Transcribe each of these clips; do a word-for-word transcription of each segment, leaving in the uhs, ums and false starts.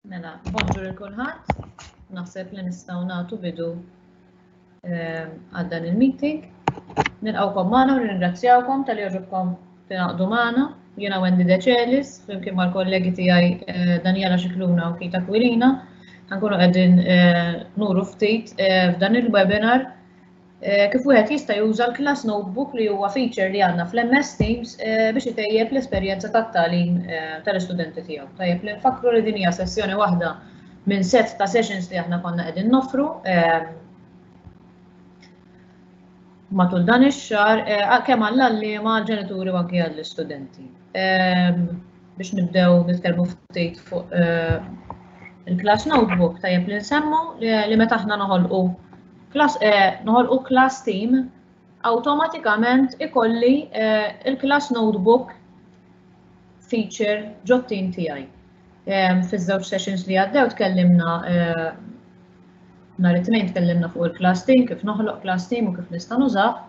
Mela, bonġur il kulħadd. Naħseb li nistgħu nagħtu bidu ehm, għal dan il-meeting. Nilqgħukom magħna u nirringrazzjawkom talli għoġobkom tingħaqdu magħna. Jiena Wendy Decelis, flimkien mal-kollegi tiegħi eh, Daniela Scicluna u Kita Aquilina. Ħankunu qegħdin eh, nuru ftit eh, f'dan il-webinar kif wieħed jista' juża l-Class Notebook li huwa feature li għandna fl-M S Teams biex itejjeb l-esperjenza tat-tagħlim tal-istudenti tiegħu. Tajjeb li nfakru li din hija sessjoni waħda minn set ta' sessions li aħna konna qegħdin noffru matul dan ix-xahar kemm għall-għalliema, għall-ġenituri u anke għall-istudenti. Biex nibdew nitkellmu ftit fuq il-Class Notebook, tajjeb li nsemmu li meta aħna noħolqu class, noħolqu class team, awtomatikament ikolli il-Class Notebook feature ġot-team tiegħi. Fiż-żewġ sessions li għaddew tkellimna, nhar it-Tnejn tkellimna fuq il-class team, kif noħloq class team u kif nista' nużah.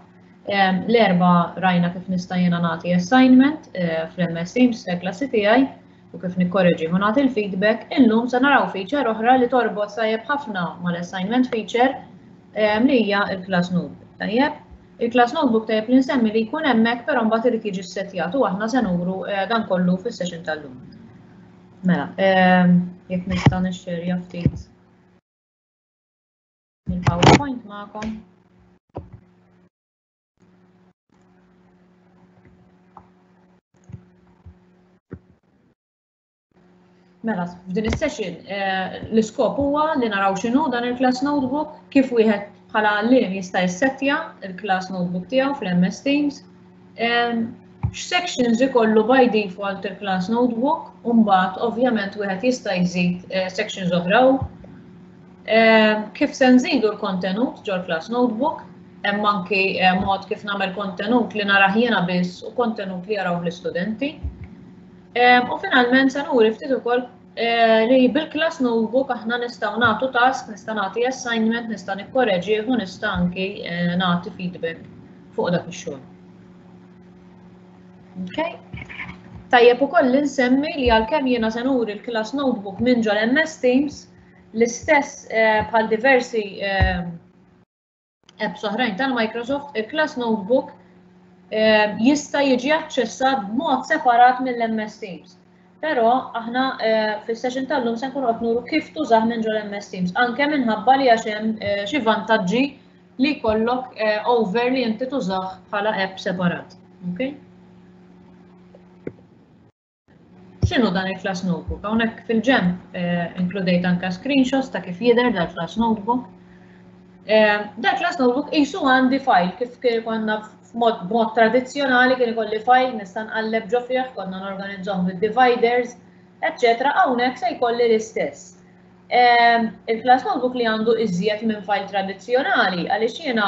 L-Erbgħa rajna kif nista' jiena nagħti assignment fl-M S Teams klassi tiegħi u kif nikkoreġi u nagħti l-feedback. Illum se naraw feature oħra li torbot tajjeb ħafna mal-assignment feature, li hija il-Class Notebook. Tajjeb, il-Class Notebook tajjeb li nsemmi li jkun hemmhekk, però mbagħad irid jiġi ssettjat u aħna se nuru dan kollu fis-session tal-lum. Mela, jekk nista' nixxerja ftit il-PowerPoint magħkom. Mela, f'din is-session l-iskop huwa li naraw x'inhu dan il-Class Notebook, kif wieħed bħala għalliem jista' jissettja il-Class Notebook tiegħu fl-M S Teams, x'sections ikollu by default il-Class Notebook, u mbagħad ovvjament wieħed jista' jżid sections oħra, kif se nżidu l-kontenut ġol-Class Notebook, hemm anki mod kif nagħmel kontenut li narah jiena biss u kontenut li jaraw l-istudenti. U finalment se nuri ftit ukoll li bil-Class Notebook aħna nistgħu nagħtu task, nista' nagħti assignment, nista' nikkoreġi u nista' anki nagħti feedback fuq dak ix-xogħol. Okay. Tajjeb ukoll li nsemmi li għalkemm jiena se nuri l-Class Notebook minn ġol M S Teams, l-istess bħal diversi apps oħrajn tal-Microsoft, il-Class Notebook jista' jiġi aċċessat b'mod separat mill-M S Teams. Però aħna fis-session tal-lum se nkunu qed nuru kif tużah minn ġol M S Teams, anke minħabba li għax hemm xi vantaġġi li jkollok over li inti tużah bħala app separat. Okay? X'inhu dan il-Class Notebook? Hawnhekk fil-ġenb inkludejt anke screenshots ta' kif jidher dal-Class Notebook. Dal-Class Notebook qisu għandi file kif konna b'mod tradizzjonali kien ikolli file nista' nqalleb ġo fih, konna norganizzahom bid-dividers, eċċetera. Hawnhekk se jkolli l-istess. Il-Class Notebook li għandu iżjed minn file tradizzjonali għaliex jiena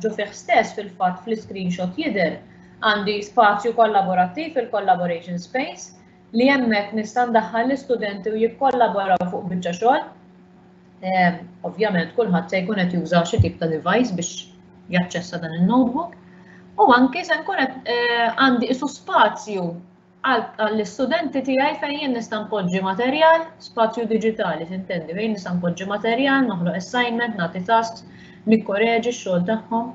ġo fih stess, fil-fatt fl-screenshot jidher, għandi spazju kollaborattiv, il-collaboration space, li hemmhekk nista' ndaħħal l-istudenti u jikkollaboraw fuq biċċa xogħol. Ovvjament kulħadd se jkun qed juża xi tip ta' device biex jaċċessa dan il-notebook. U anke se nkun qed għandi isu spazju għall-istudenti tiegħi fejn jien nista' npoġġi materjal, spazju diġitali tintendi, fejn nista' npoġġi materjal, noħloq assignment, nagħti tasks, nikkoreġi x-xogħol tagħhom.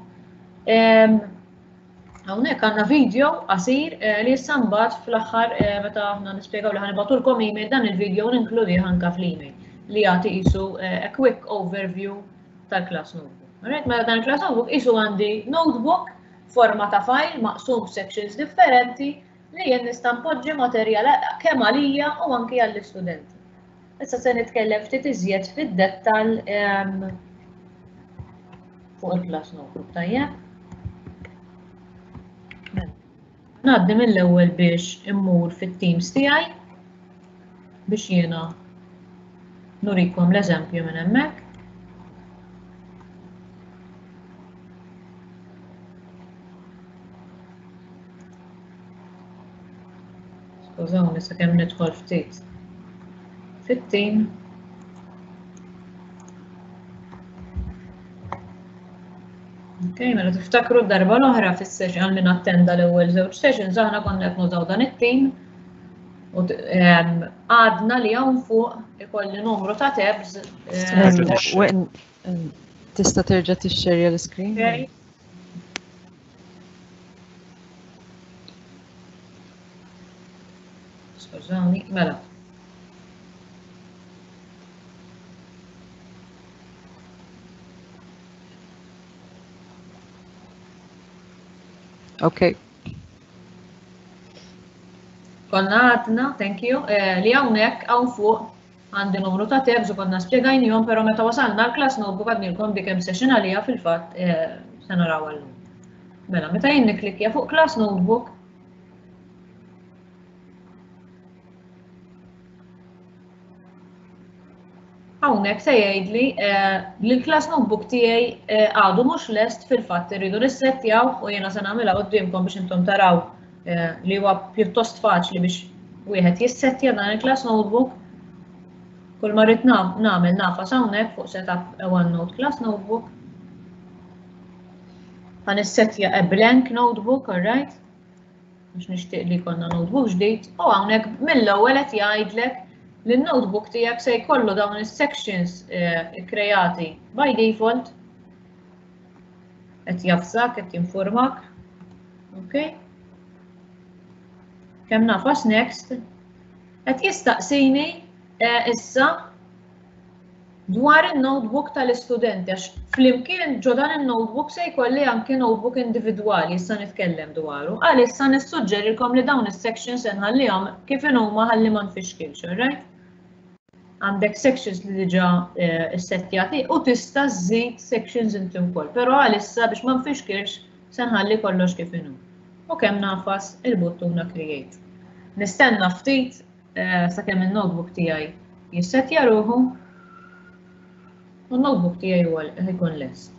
Hawnhekk għandna video qasir li issa mbagħad fl-aħħar meta aħna nispjegaw li ħa nibagħtulkom email, dan il-video ninkludih anke fl-email li jagħti qisu a quick overview tal-Class Notebook. Alright, mela dan il-Class Notebook qisu għandi notebook forma ta' file maqsum sections differenti li jien nista' npoġġi materjal kemm għalija u anki għall-istudenti. Issa se nitkellem ftit iżjed fid-dettall fuq il-Class Notebook, tajjeb? Ngħaddi mill-ewwel biex immur fit-Teams tiegħi biex jiena nurikom l-eżempju minn hemmhekk. Skużawni sakemm nidħol ftit fit-team. Ok, mela tiftakru d-darba l-oħra fis-session, għal min attenda l-ewwel żewġ sessions, aħna konna qed nużaw dan it-team. U għadna li hawn fuq ikolli numru ta' tabs. Tista' terġa' tixxerja l-screen? Skużawni, mela. Okay. Konna għadna, thank you, li hawnhekk hawn fuq għandi numru ta' tabs u konna spjegajnihom, però meta wasalna l-class notebook għadnilkom dik hemm session għalija fil-fatt se naraw għallum. Mela, meta jien nikklikkja fuq class notebook, hawnhekk se jgħidli li l-class notebook tiegħi għadu mhux lest, fil-fatt irridu nissettjaw u jiena se nagħmilha quddiemkom biex intom taraw li huwa pjuttost faċli biex wieħed jissettja dan il-class notebook. Kull ma rrid nagħmel nafas hawnhekk fuq setup a OneNote class notebook. Ħa nissettja a blank notebook, all right? Biex nixtieq li jkollna notebook ġdid, u hawnhekk mill-ewwel qed jgħidlek li n-notebook tiegħek se jkollu dawn is-sections kreati by default. Qed jafsak, qed jinformak. Okay? Kemm nafas next, qed jistaqsini issa dwar il-notebook tal-istudenti, għax flimkien ġo dan il-notebook se jkolli anki notebook individwali, issa nitkellem dwaru. Għalissa nissuġġerilkom li dawn is-sections se nħallihom kif inhuma ħalli ma nfixkilx, alright? Għandek sections li diġà ssettjati u tista' żżid sections inti wkoll, però għalissa biex ma nfixkilx se nħalli kollox kif inhu. U kemm nafas il-buttuna create. Nistenna ftit sakemm il-notebook tiegħi jissettja ruħu u n-notebook tiegħi huwa jkun lest.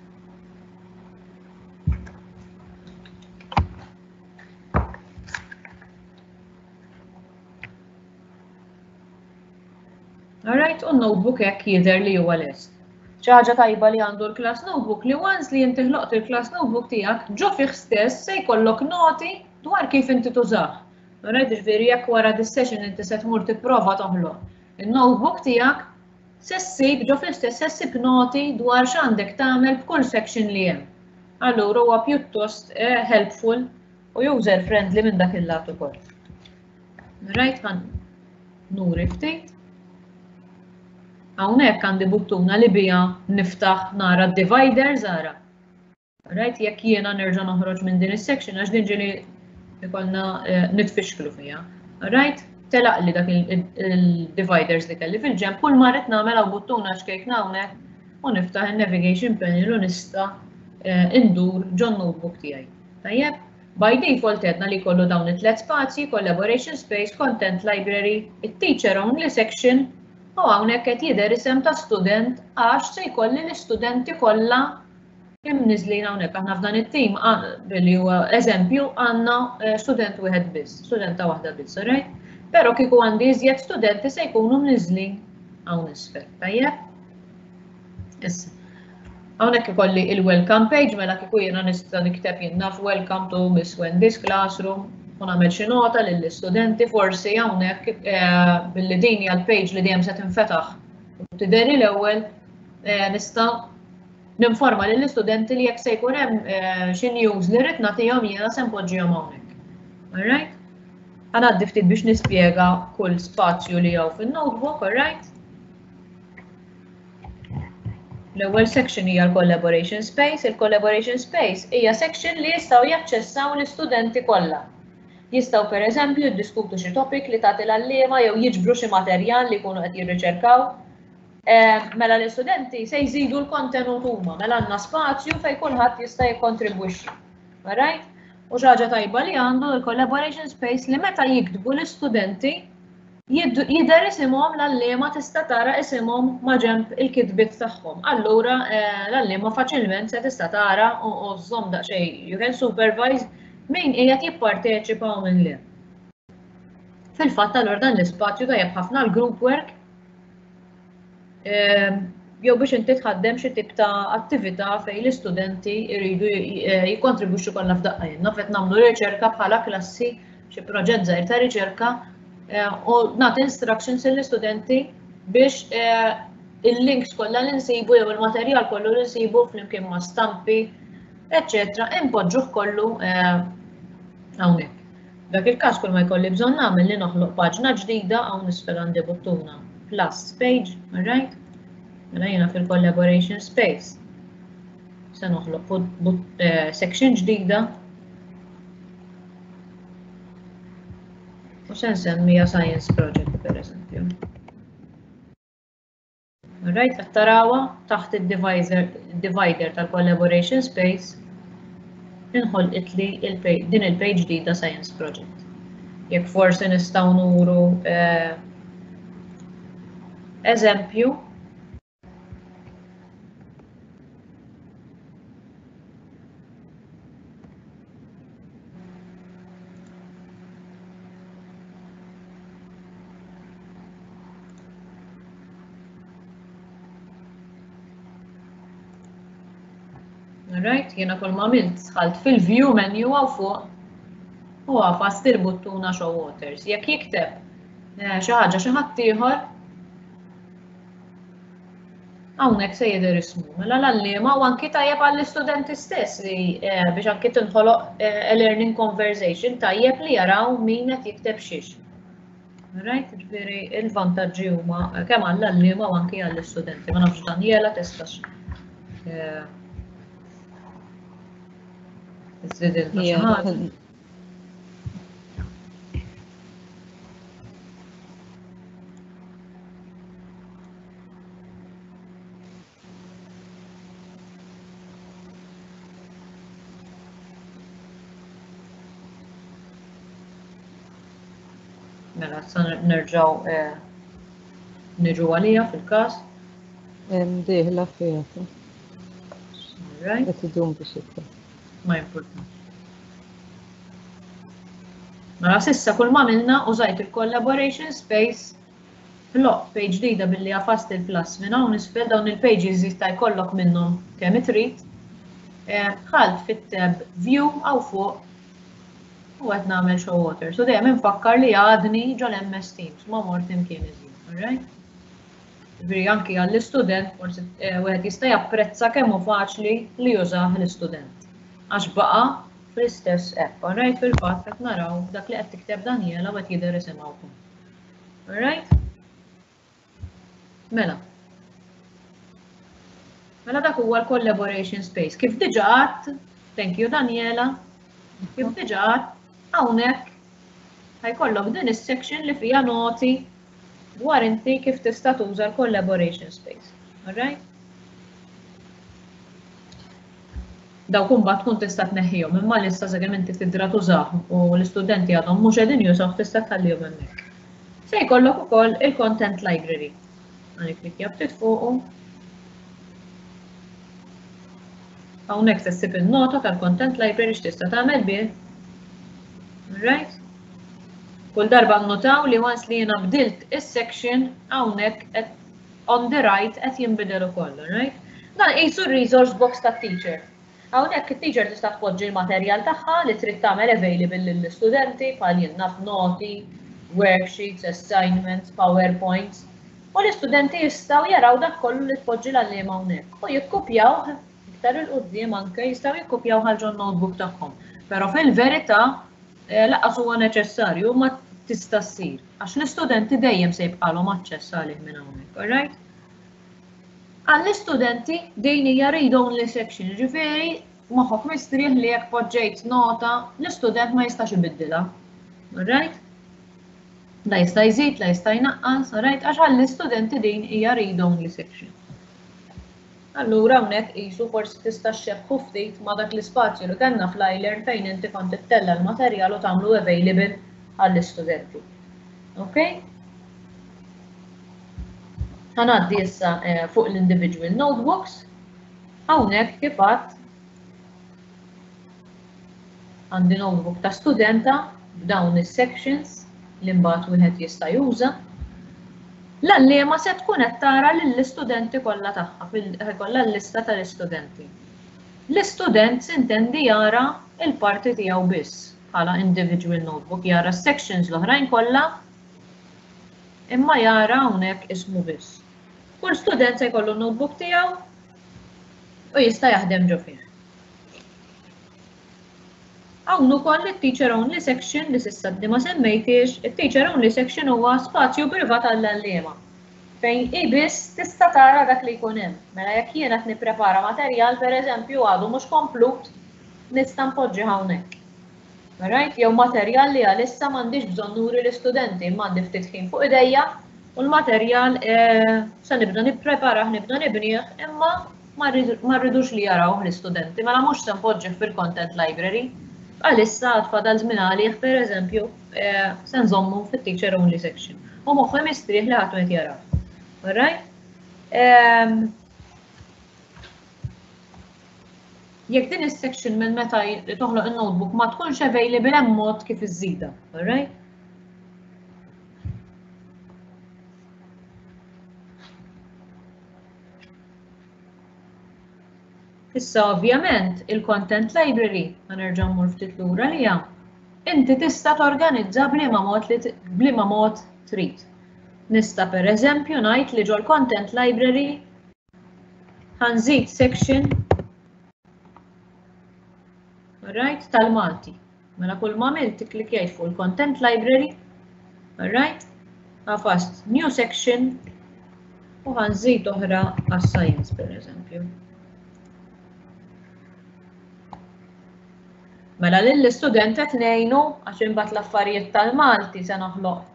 Alright, u n-notebook hekk jidher li huwa lest. Xi ħaġa tajba li għandu l-class notebook li once li inti ħloqt il-class notebook tiegħek ġo fih stess se jkollok noti dwar kif inti tużah. Alright, ġifieri jekk wara dis-session inti se tmur tipprova toħloq il-notebook tiegħek, se ssib ġo fih stess se ssib noti dwar x'għandek tagħmel b'kull section li hemm. Allura huwa pjuttost helpful u user friendly minn dak il-lat ukoll. Right, ħa nuri ftit. Hawnhekk għandi buttuna li bija niftaħ nara d-dividers ara. Right, jekk jiena nerġa' noħroġ minn din is-section għax din ġieli ikollna nitfixklu fiha. Right, telaq li dak il-dividers li kelli fil-ġenb, kull ma rrid nagħmel hawn buttuna ċkejkna hawnhekk u niftaħ il-navigation panel u nista' indur ġon notebook tiegħi. Tajjeb, by default għedna li kollu dawn it-tliet spazji, collaboration space, content library, it-teacher only section, u hawnhekk qed jidher isem ta' student għax se jkolli l-istudenti kollha imniżlin hawnhekk. Aħna f'dan it-tim billi huwa eżempju għandna student wieħed biss, studenta waħda biss, alright? Però kieku għandi iżjed studenti se jkunu mniżlin hawn isfel, tajjeb? Issa, hawnhekk ikolli il-welcome page, mela kieku jiena nista' nikteb jien naf welcome to Miss Wendy's classroom u nagħmel xi nota lill-istudenti, forsi hawnhekk billi din hija l-page li dejjem se tinfetaħ u tidheri l-ewwel nista' ninforma lill-istudenti li jekk se jkun hemm xi news li rrid nagħtihom jiena se npoġġihom hawnhekk. Alright? Ħa ngħaddi ftit biex nispjega kull spazju li hawn fin-notebook, alright? L-ewwel section hija l-collaboration space. Il-collaboration space hija section li jistgħu jaċċessaw l-istudenti kollha. Jistgħu pereżempju jiddiskutu xi topic li tagħti l-għalliema jew jiġbru xi materjal li jkunu qed jirriċerkaw. Mela l-istudenti se jżidu l-kontenut huma, mela għandna spazju fejn kulħadd jista' jikkontribwixxi. Alright? U xi ħaġa tajba li għandu l-collaboration space li meta jiktbu l-istudenti jidher isimhom, l-għalliema tista' tara isimhom ma' ġenb il-kitbiet tagħhom. Allura l-għalliema faċilment se tista' tara u żżomm daqsxejn, you can supervise min qiegħed jipparteċipa u min le. Fil-fatt allura dan l-ispazju tajjeb ħafna l-group work jew biex inti tħaddem xi tip ta' attività fejn l-istudenti jridu jikkontribwixxu kollha f'daqqa. Jien naf qed nagħmlu riċerka bħala klassi, xi proġett żgħir ta' riċerka, u nagħti instructions lill-istudenti biex il-links kollha li nsibu jew il-materjal kollu li nsibu flimkien ma' stampi, eċċetera, impoġġuh kollu hawnhekk. Dak il-każ kull ma jkolli bżonn nagħmel li noħloq paġna ġdida hawn isfel għandi buttuna plus page, all right? Mela jiena fil-collaboration space. Se noħloq section ġdida u se nsemmiha Science Project per eżempju. Alright, qed tarawha taħt id-divider tal-collaboration space inħolqit li din il-page ġdida Science Project. Jekk forsi nistgħu nuru eżempju, Right, jiena kull ma għamilt dħalt fil-view menu hawn fuq u għafast il-buttuna show waters. Jekk jikteb xi ħaġa xi ħadd ieħor, hawnhekk se jidher ismu. Mela l-għalliema u anki tajjeb għall-istudenti stess li biex anki tinħoloq a learning conversation tajjeb li jaraw min qed jikteb xiex. Right, ġifieri il-vantaġġi huma kemm għall-għalliema u anki għall-istudenti. Ma nafx Daniela tistax Mela, sa nerġaw niġu għalija fil-każ. Dieħla fiha. Qed idum biex jidħol. Ma importanti. Mela sissa kull ma għamilna użajt il-collaboration space, ħloq page ġdida billi għafast il-plus minn hawn isfel, dawn il-pages jista' jkollok minnhom kemm trid. Dħalt fit-tab view hawn fuq u qed nagħmel show water. So dejjem infakkar li għadni ġol M S Teams, ma mort imkien iżjed, all right? Ġifieri anki għall-istudent forsi wieħed jista' japprezza kemm hu faċli li jużah l-istudent. Għax baqa' fl-istess app, all right? Fil-fatt qed naraw dak li qed tikteb Daniela u qed jidher isimha wkoll. All right? Mela. Mela dak huwa l-collaboration space. Kif diġà għadt, thank you Daniela, kif diġà għadt, hawnhekk ħajkollok din is-section li fiha noti dwar inti kif tista' tuża l-collaboration space. All right? Dawk imbagħad tkun tista' tneħħihom, imma lissa sakemm inti tidra tużah u l-istudenti għadhom mhux qegħdin jużawh tista' tħallihom hemmhekk. Se jkollok ukoll il-content library. Ħa nikklikkja ftit fuqu. Hawnhekk se ssib il-nota tal-content library x'tista' tagħmel bih. Right? Kull darba nnotaw li once li jiena bdilt is-section hawnhekk qed on the right qed jinbidel ukoll, right? Dan qisu r-resource box tat-teacher. Hawnhekk it-teacher tista' tpoġġi l-materjal tagħha li trid tagħmel available lill-istudenti bħal jien naf noti, worksheets, assignments, PowerPoints. U l-istudenti jistgħu jaraw dak kollu li tpoġġi l-għalliema hawnhekk u jikkupjawh iktar il quddiem anke jistgħu jikkupjaw għal ġon notebook tagħhom. Però fil-verità lanqas huwa neċessarju ma tista' ssir għax l-istudenti dejjem se jibqalhom aċċess għalih minn hawnhekk, all right? Għall-istudenti din hija read-only section, ġifieri moħħok mistrieħ li jekk poġġejt nota l-istudent ma jistax ibiddilha. All right? La jista' jżid, la jista' jnaqqas, all right? Għax għall-istudenti din hija read-only section. Allura hawnhekk qisu forsi tista' xxebbħu ftit ma' dak l-ispazju li kellna fl-iLearn fejn inti kont ittella' l-materjal u tagħmlu available għall-istudenti. Okay? Ħa ngħaddi issa fuq l-individual notebooks. Hawnhekk kif għadt għandi notebook ta' studenta b'dawn is-sections li mbagħad wieħed jista' juża. L-għalliema se tkun qed tara lill-istudenti kollha tagħha, kollha l-lista tal-istudenti. L-istudent sintendi jara l-parti tiegħu biss bħala individual notebook, jara s-sections l-oħrajn kollha Imma jara hawnhekk ismu biss. Kull student se jkollu notebook tiegħu u jista' jaħdem ġo fih. Hawn ukoll it-teacher only section li s'issa għadni ma semmejtix, it-teacher only section huwa spazju privat għall-għalliema fejn hi biss tista' tara dak li jkun hemm. Mela jekk jien qed nipprepara materjal pereżempju għadu mhux komplut, nista' npoġġi hawnhekk. Alright? Jew materjal li għalissa m'għandix bżonn nuri l-istudenti, imma għandi ftit ħin fuq idejja u l-materjal eh, se nibda nippreparah, nibda nibnieh, imma ma rridux li jarawh l-istudenti, mela mhux se npoġġih fil-content library. Għalissa għad fadal żmien għalih, pereżempju, eh, se nżommu fit-teacher only section. U moħħi mistrieħ li ħadd qed jaraw. Alright? Ehm, jekk din is-section minn meta toħloq in-notebook ma tkunx available hemm mod kif iżżidha, alright? Issa ovvjament il-content library, ħa nerġa' mmur ftit lura liha, inti tista' torganizza b'liema mod li b'liema mod trid. Nista' pereżempju ngħid li ġol-content library ħa nżid section alright, tal-Malti. Mela kull ma għamilt ikklikjajt fuq il-content library, alright, għafast new section u ħa nżid oħra għas-science pereżempju. Mela lill-istudent qed ngħinu għax imbagħad l-affarijiet tal-Malti se noħloq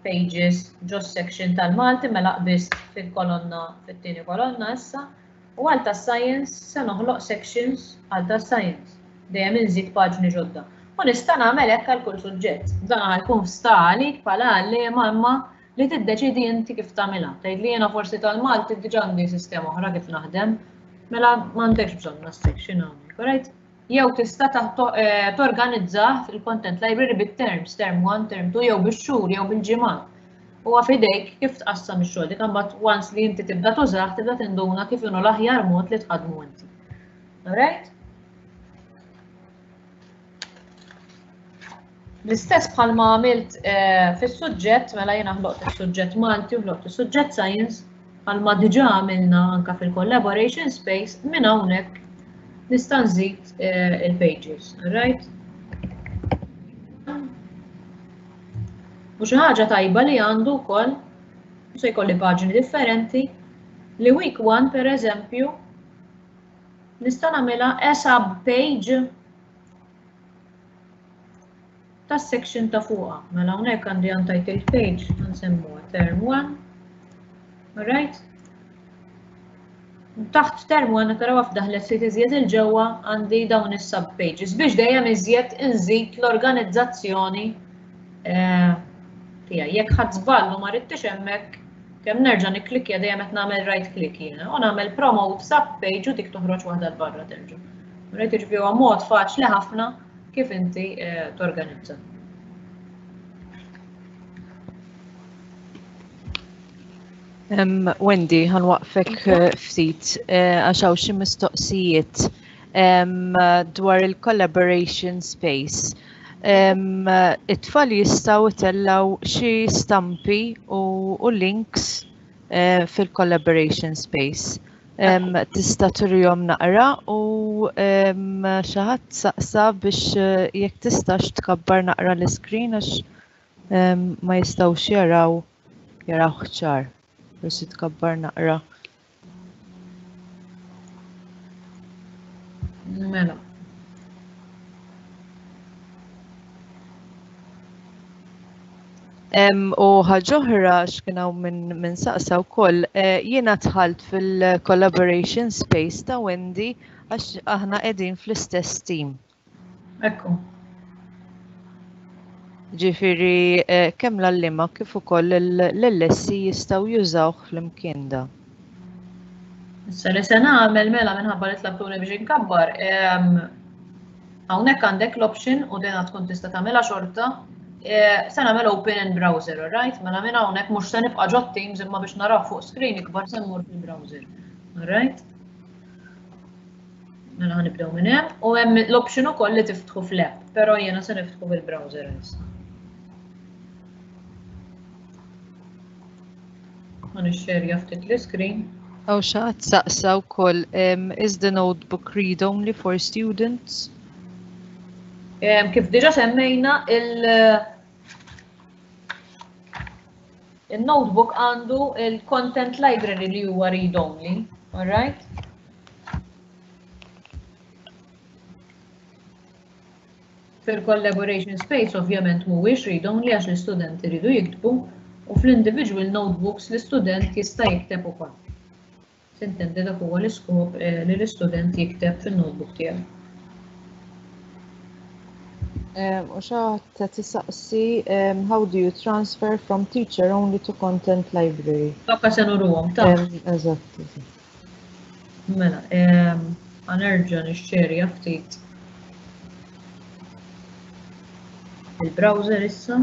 pages ġo section tal-Malti mela qbist fil-kolonna fit-tieni kolonna issa u għal tas-science se noħloq sections għal tas-science. Dejjem inżid paġni ġodda. U nista' nagħmel hekk għal kull suġġett. Dan ħa jkun sta għalik bħala għalliema imma li tiddeċidi inti kif tagħmilha. Tgħid li jiena forsi tal-Malti diġà għandi sistema oħra kif naħdem, mela m'għandekx bżonn section hawnhekk, alright? Jew tista' eh, torganizzah fil-content library bit-terms, term one, term two, jew bix-xhur, jew bil-ġimgħat. Huwa f'idejk kif tqassam ix-xogħol. Dik imbagħad once li inti tibda tużah, tibda tinduna kif inhu l-aħjar mod li tħaddmu inti. Alright? L-istess bħalma għamilt eh, fis-suġġett, mela jiena ħloqt is-suġġett Malti u ħloqt is-suġġett Science, bħalma diġà għamilna anka fil-collaboration space, minn hawnhekk nista' nżid eh, il-pages, alright? U xi ħaġa tajba li għandu wkoll, se jkolli paġni differenti, li week one per eżempju nista' nagħmilha a sub page tas-section ta' fuqha. Mela hawnhekk għandi untitled page nsemmuha term one. Alright? Taħt term one taraw f'daħlet ftit iżjed il-ġewwa għandi dawn is-sub pages biex dejjem iżjed inżid l-organizzazzjoni eh, tiegħi. Jekk ħadd żball u ma ridtix hemmhekk kemm nerġa' nikklikkja dejjem qed nagħmel right click jiena u nagħmel promote sub page u dik toħroġ waħda 'l barra terġa'. Rajt jiġifieri huwa mod faċli ħafna kif inti eh, torganizza. Um, Wendy, ħanwaqfek eh, ftit eh, għax hawn xi mistoqsijiet um, dwar il-collaboration space. Um, it-tfal jistgħu jtellgħu xi stampi u, u links uh, fil-collaboration space. Um, tista' turihom naqra u um, xi ħadd saqsa biex uh, jekk tistax tkabbar naqra l-screen għax um, ma jistgħux jaraw jaraw ċar. Forsi tkabbar naqra. Mela. Um, u ħaġa oħra x'kien hawn minn min saqsa wkoll, eh, jiena dħalt fil-collaboration space ta' Wendy għax aħna qegħdin fl-istess team. Ekku. Ġifieri eh, kemm l-għalliema kif ukoll l-L S C jistgħu jużawh flimkien da. Issa li se nagħmel mela minħabba li tlabtuni biex inkabbar, hawnhekk għandek l-option u dejna tkun tista' tagħmilha xorta, eh, se nagħmel open in browser, alright? Mela minn hawnhekk mhux se nibqa' ġo Teams imma biex naraw fuq screen ikbar se mmur fil-browser. Alright? Mela ħa nibdew minn hemm u hemm l-option ukoll li tiftħu fl-app, però jiena se niftħu fil-browser issa. Ħa nixxerja ftit l-iscreen. Hawn xi ħadd saqsa wkoll, is the notebook read only for students? Kif diġa semmejna, il-notebook għandu il-content library li huwa read only, all right? Fil-collaboration space ovvjament mhuwiex read only għax l-istudenti jridu jiktbu, u fl-individual notebooks l-istudent jista' jikteb ukoll. Sintendi dak huwa l-iskop li l-istudent jikteb fin-notebook tiegħu. U xi ħadd tisaqsi, how do you transfer from teacher only to content library? Tokka se nuruhom, ta' Eżatt. Mela, ħa nerġa' nixxerja ftit il-browser issa.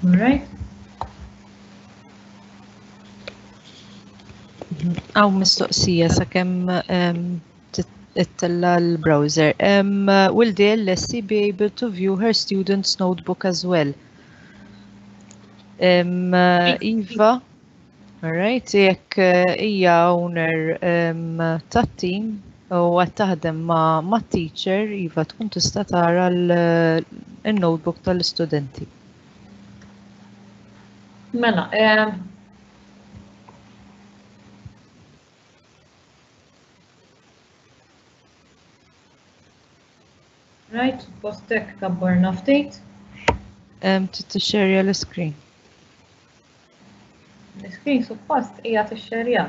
All right. Hawn mistoqsija sakemm ittella l-browser. Will the L S C be able to view her student's notebook as well? Iva, all right, jekk hija owner tat-team u qed taħdem ma' teacher, Iva tkun tista' tara l-notebook tal-istudenti. Mela, right, postek kabbarna ftit. Tixxerja l-screen. L-screen suppost hija tixxerja.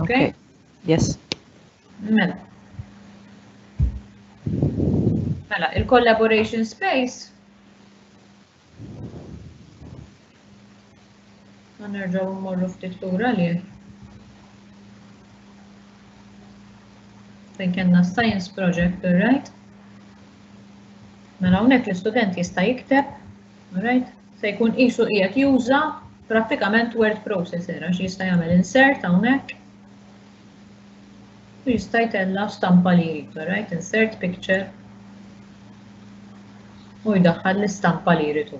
Okay. Yes. Mela. Mela, il-collaboration space. Nerġgħu mmorru ftit lura li fejn kellna science project, all right? Mela hawnhekk l-istudent jista' jikteb, all right? Se jkun qisu qiegħed juża prattikament word processor għax jista' jagħmel insert hawnhekk. U jista' jtella' stampa li jrid, all right? Insert picture. U jdaħħal l-istampa li jrid hu.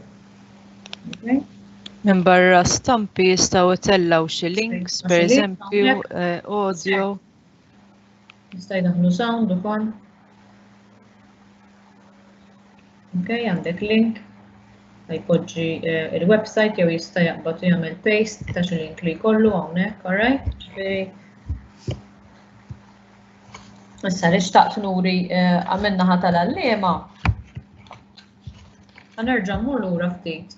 Okay? Minn barra stampi jistgħu jtellgħu xi links, per eżempju, audio. Jista' jdaħħlu sound ukoll. Ok, għandek link. Jpoġġi il-website jew jista' jaqbad u jagħmel paste ta' xi link li jkollu hawnhekk, all right? Ġifieri issa li xtaqt nuri għamilna ħa tal-għalliema. Ħa nerġa' mmur lura ftit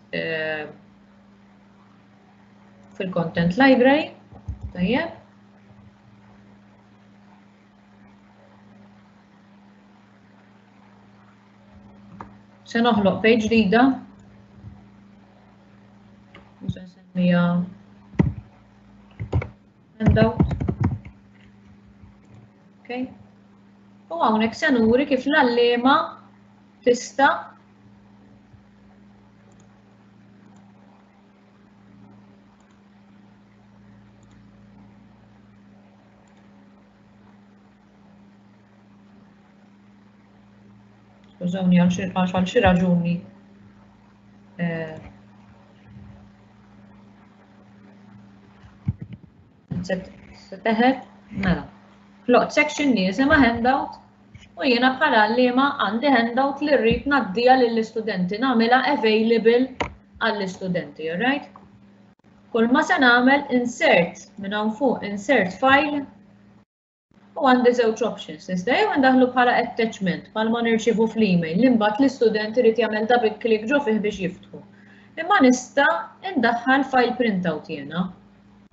fil-content library, tajjeb. Se noħloq page ġdida. U se nsemmiha handout. Okay. U hawnhekk se nuri kif l-għalliema tista' Skużawni għal xi raġuni. Se teħed, mela. Ħloqt section li jisimha handout u jiena bħala għalliema għandi handout li rrid ngħaddiha lill-istudenti, nagħmilha available għall-istudenti, all right? Kull ma se nagħmel insert minn hawn fuq, insert file, u għandi żewġ options. Nista' jew ndaħlu bħala attachment, bħalma nirċievu fl-email, li mbagħad l-istudent irid jagħmel double click ġo fih biex jiftħu. Imma nista' ndaħħal file printout jiena.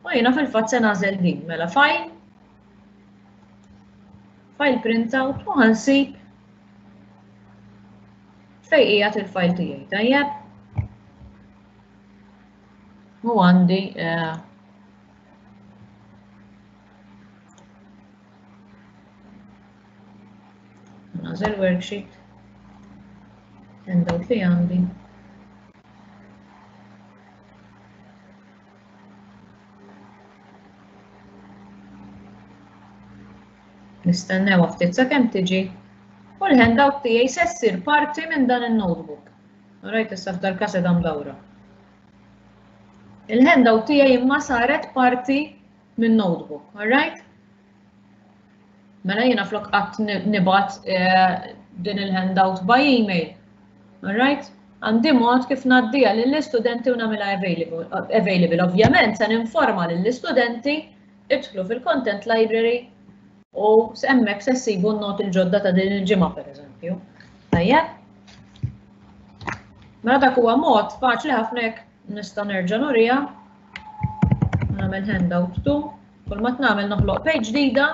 U jiena fil-fatt se nagħżel din, mela file, file printout u ħansib fejn qiegħed il-file tiegħi, tajjeb? U għandi, eh, nagħżel worksheet. P D F għandi. Nistennew ftit sakemm tiġi u l-handout tiegħi se ssir parti minn dan il-notebook. Rajt, issa f'dal każ dam dawra. Il-handout tiegħi imma saret parti minn notebook, alright? Mela jiena flok qatt nibgħat eh, din il-handout by email. Alright? Għandi mod kif ngħaddiha lill-istudenti u nagħmilha available. available. Ovvjament se ninforma lill-istudenti idħlu fil-content library u hemmhekk se ssibu n-noti l-ġodda ta' din il-ġimgħa, pereżempju. Tajjeb? Mela dak huwa mod faċli ħafna. Jekk nista' nerġa' nurija. Nagħmel handout two. Kull ma nagħmel, noħloq page ġdida.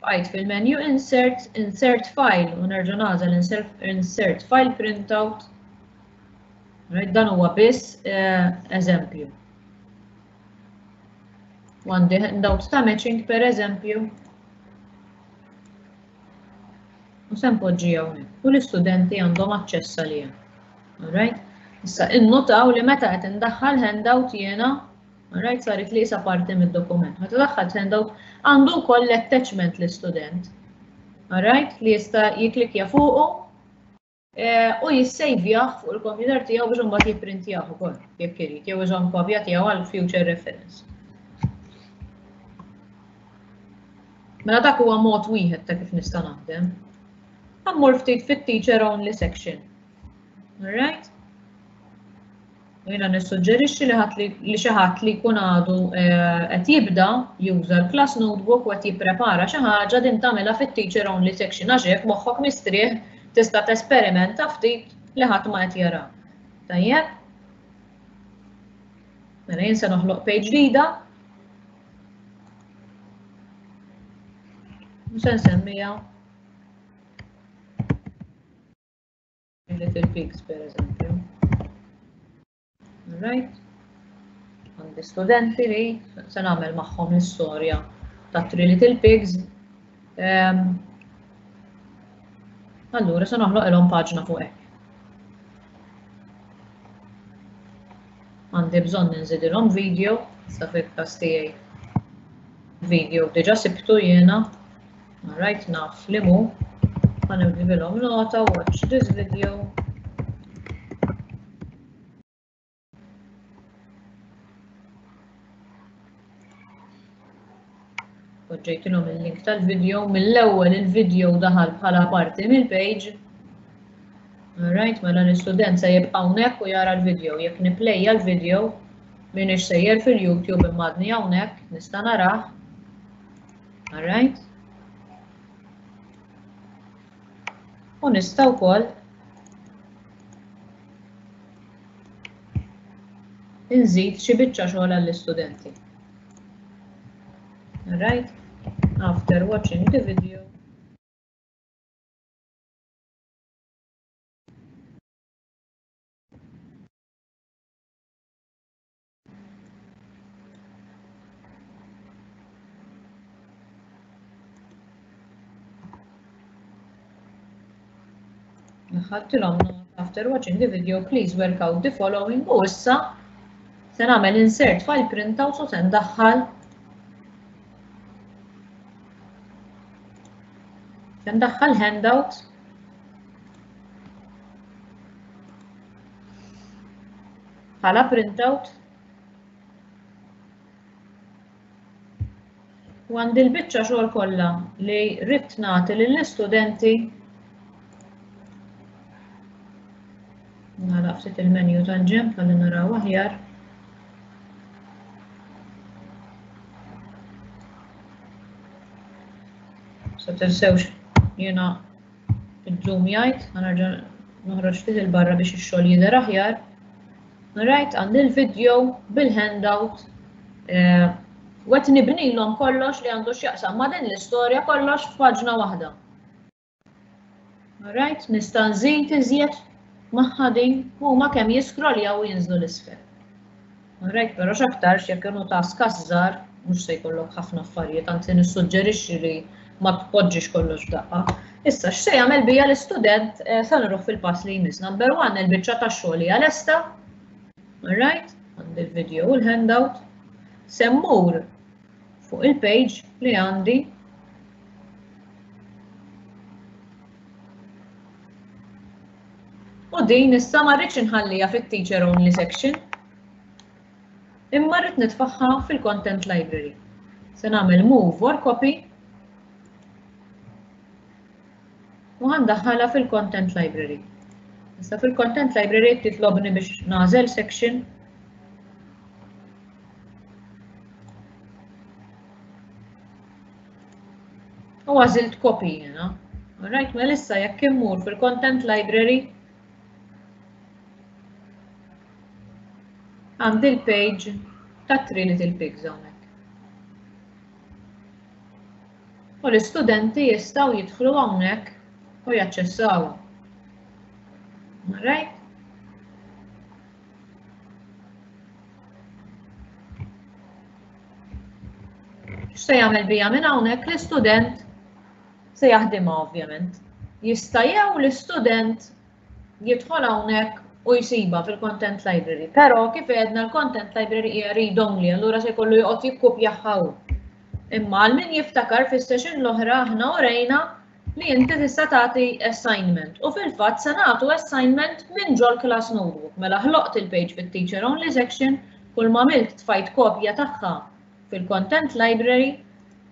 Bqajt fil-menu insert, insert file u nerġa' nagħżel insert file printout. Dan huwa biss eh, eżempju. U għandi handout ta' matching, per eżempju. U se npoġġi hawnhekk. U l-istudenti għandhom aċċess għaliha. Alright? Issa innotaw li meta qed indaħħal handout jiena, alright, saret li isa parti mid-dokument. Meta daħħalt handout, għandu wkoll l-attachment l-istudent. Alright? Li jista' jiklikja fuqu eh, u jissejvjah fuq il-computer tiegħu biex imbagħad jipprintjah ukoll jekk irid, jew iżomm kopja tiegħu għal future reference. Mela dak huwa mod wieħed ta' kif nista' naħdem. Ħa mmur ftit fit-teacher only section. Alright? Jiena nissuġġerixxi li ħadd li xi ħadd li jkun għadu eh, qed jibda juża l-class notebook u qed jipprepara xi ħaġa, din tagħmilha fit-teacher only section, għax hekk moħħok mistrieħ, tista' tesperimenta ftit li ħadd ma qed jara. Tajjeb? Mela jien se noħloq page ġdida. U se nsemmija Little Pigs, per eżempju. Alright? Għandi studenti li se nagħmel magħhom l-istorja ta' Three Little Pigs. Um, allura se noħloq ilhom paġna fuq hekk. Għandi bżonn ninżidilhom video, sa fil-każ tiegħi video diġà sibtu jiena. Alright, naf li mu. Ħa nibdilhom nota, "Watch this video." Poġġejtilhom il-link tal-video, mill-ewwel il-video daħal bħala parti mill-page. Alright, mela l-istudent se jibqa' hawnhekk u jara l-video. Jekk niplejja l-video, m'iniex sejjer fil-YouTube imma għadni hawnhekk, nista' narah. Alright? U nista' wkoll inżid xi biċċa xogħol għall-istudenti. Alright? "After watching the video, ħadtilhom, after watching the video, please work out the following." U issa se nagħmel insert file printout u se ndaħħal se ndaħħal handout bħala printout u għandi l-biċċa xogħol kollha li rrid nagħti lill-istudenti. Nagħlaq ftit il-menu tal-ġenb ħalli naraw aħjar. Sa tinsewx jiena il-zoom jgħid, ħa nerġa' noħroġ ftit il-barra biex ix-xogħol jidher aħjar. Right, għandi l-video bil-handout eh, u qed nibnilhom kollox li għandu x'jaqsam ma' din l-istorja, kollox f'paġna waħda. Alright, nista' nżid iżjed magħha din, huma kemm jiskroljaw u jinżlu 'l isfel. Alright, però x'aktarx jekk kienu task żgħar mhux se jkollok ħafna affarijiet, anzi nissuġġerixxi li ma tpoġġix kollox f'daqqa. Issa, x'se jagħmel bija l-istudent sa nruħ fil-pass li jmiss. Number one, il-biċċa tax-xogħol hija lesta. All right, għandi il-video u l-handout. Se mmur fuq il-page li għandi u din issa ma rridx inħallija fit-teacher only section, imma rrid nitfaħħa fil-content library. Se nagħmel move or copy u għandaħħalha fil-content library. Issa fil-content library titlobni biex nagħżel section. U għażilt copy jiena. Alright, mela issa jekk immur fil-content library għandi l-page ta' Three Little Pigs hawnhekk. U l-istudenti jistgħu jidħlu hawnhekk u jaċċessawha. Alright? X'se jagħmel bija minn hawnhekk l-istudent se jaħdimha ovvjament. Jista' jew l-istudent jidħol hawnhekk u jsibha fil-content library. Però kif għedna l-content library hija read only, allura se jkollu joqgħod jikkupjaha hu. Imma għal min jiftakar fis-session l-oħra aħna urejna li inti tista' tagħti assignment u fil-fatt se nagħtu assignment minn ġol class notebook. Mela ħloqt il-page fit-teacher only section, kull ma għamilt tfajt kopja tagħha fil-content library,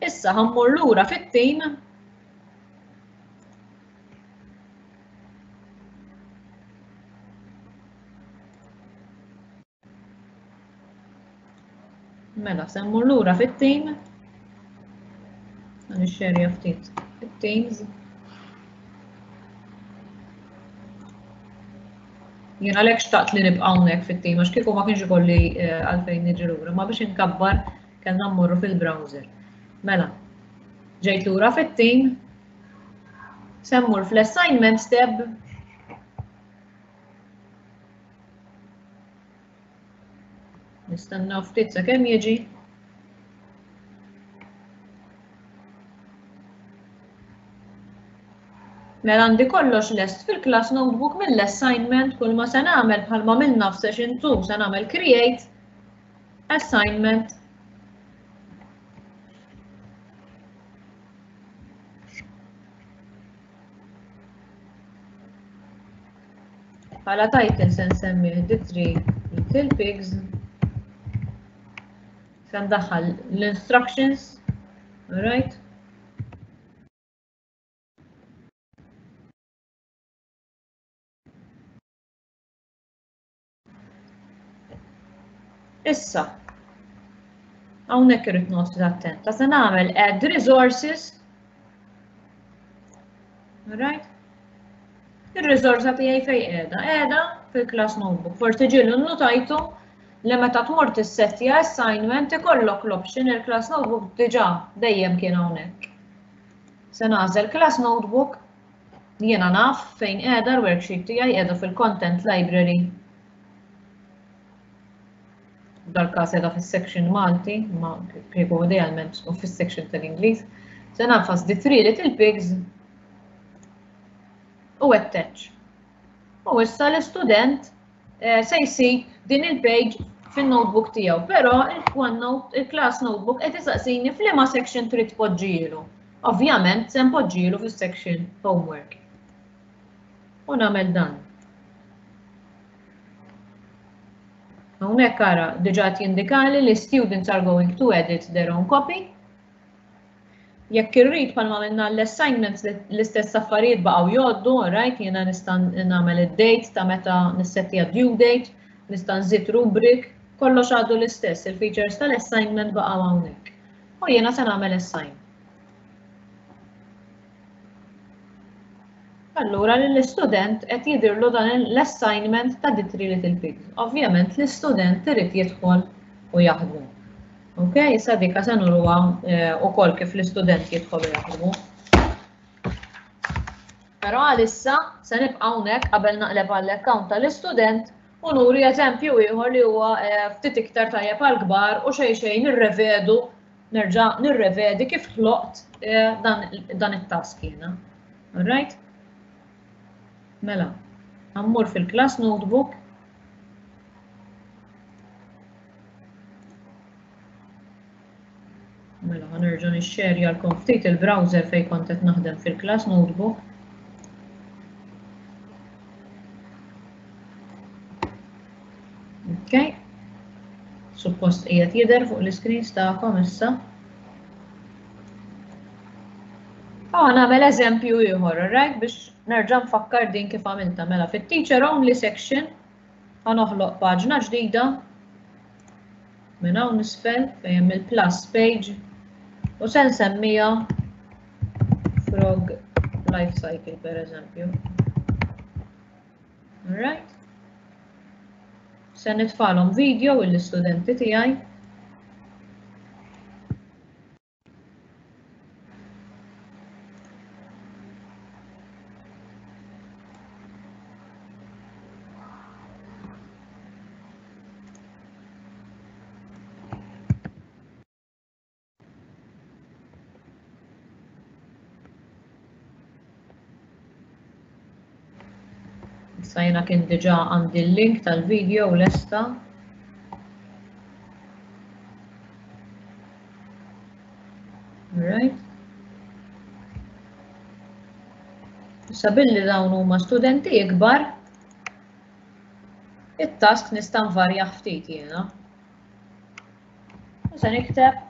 issa ħammur lura fit-team Mela, se mmur lura fit-team. Nixxerja ftit fit-teams. Jien għalhekk xtaqt li nibqa' hawnhekk fit-team għax kieku ma kienx ikolli għalfejn niġi lura, ma biex inkabbar kellna mmorru fil-browser. Mela, ġejt lura fit-team, se mmur fl-assignments tab. Nistenna ftit sakemm jiġi. Mela għandi kollox lest fil-class notebook mill-assignment, kull ma se nagħmel bħalma għamilna f'session two, se nagħmel create assignment. Bħala title se nsemmih the three little pigs. Se ndaħħal l-instructions, all right? Issa, hawnhekk irrid noqgħod attenta, se nagħmel add resources, all right? Ir-riżorsa tiegħi fejn qiegħda? Qiegħda fil-class notebook. Forsi ġieli nnotajtu li meta tmur tissettja assignment ikollok l-option il-class notebook diġà dejjem kien hawnhekk. Se nagħżel class notebook, jiena naf fejn qiegħda l-worksheet tiegħi, qiegħda fil-content library. Dal-każ qiegħda fis-section Malti, ma kieku idealment tkun fis-section tal-Ingliż. Se nagħfas the three little pigs u attach. U issa l-istudent se jsib din il-page fin-notebook tiegħu, però il-OneNote, il-class notebook qed isaqsini f'liema section trid tpoġġilu. Ovvjament se npoġġilu fis-section homework. U nagħmel dan. Hawnhekk ara diġà qed jindikali li students are going to edit their own copy. Jekk irrid bħalma għamilna l-assignments l-istess affarijiet baqgħu jgħoddu, right, jiena nista' nagħmel id-date ta' meta nissettija due date, nista' nżid rubric, kollox għadu l-istess, il-features tal-assignment baqgħu hawnhekk. U jiena se nagħmel assign. Allura l-istudent qed jidhirlu dan l-assignment ta' the three little pigs. Ovvjament l-istudent irid jidħol u jaħdmu. Ok, issa dika se nuruha wkoll kif l-istudent jidħol u jaħdmu. Però għalissa se nibqa' hawnhekk qabel naqleb għall-account tal-istudent u nuri eżempju ieħor li huwa ftit iktar tajjeb għall-kbar u xejn xejn nirrevedu, nerġa' nirrevedi kif ħloqt dan it-task jiena. Alright? Mela, ħa mmur fil-class notebook. Mela, ħa nerġa' nixxerjalkom ftit il-browser fejn kont qed naħdem fil-class notebook. Ok. Suppost qiegħed jidher fuq l-iscreens tagħkom issa. Ħa nagħmel eżempju ieħor, right, biex nerġa' nfakkar din kif għamilta. Mela fit-teacher only section ħa noħloq paġna ġdida minn hawn isfel fejn hemm il-plus page u se nsemmija frog life cycle per eżempju. Alright? Se nitfalhom video l-istudenti tiegħi. Issa jiena kien diġà għandi l-link tal-video lesta. Alright. Issa billi dawn huma studenti ikbar, it-task nista' nvarja ftit jiena. U se nikteb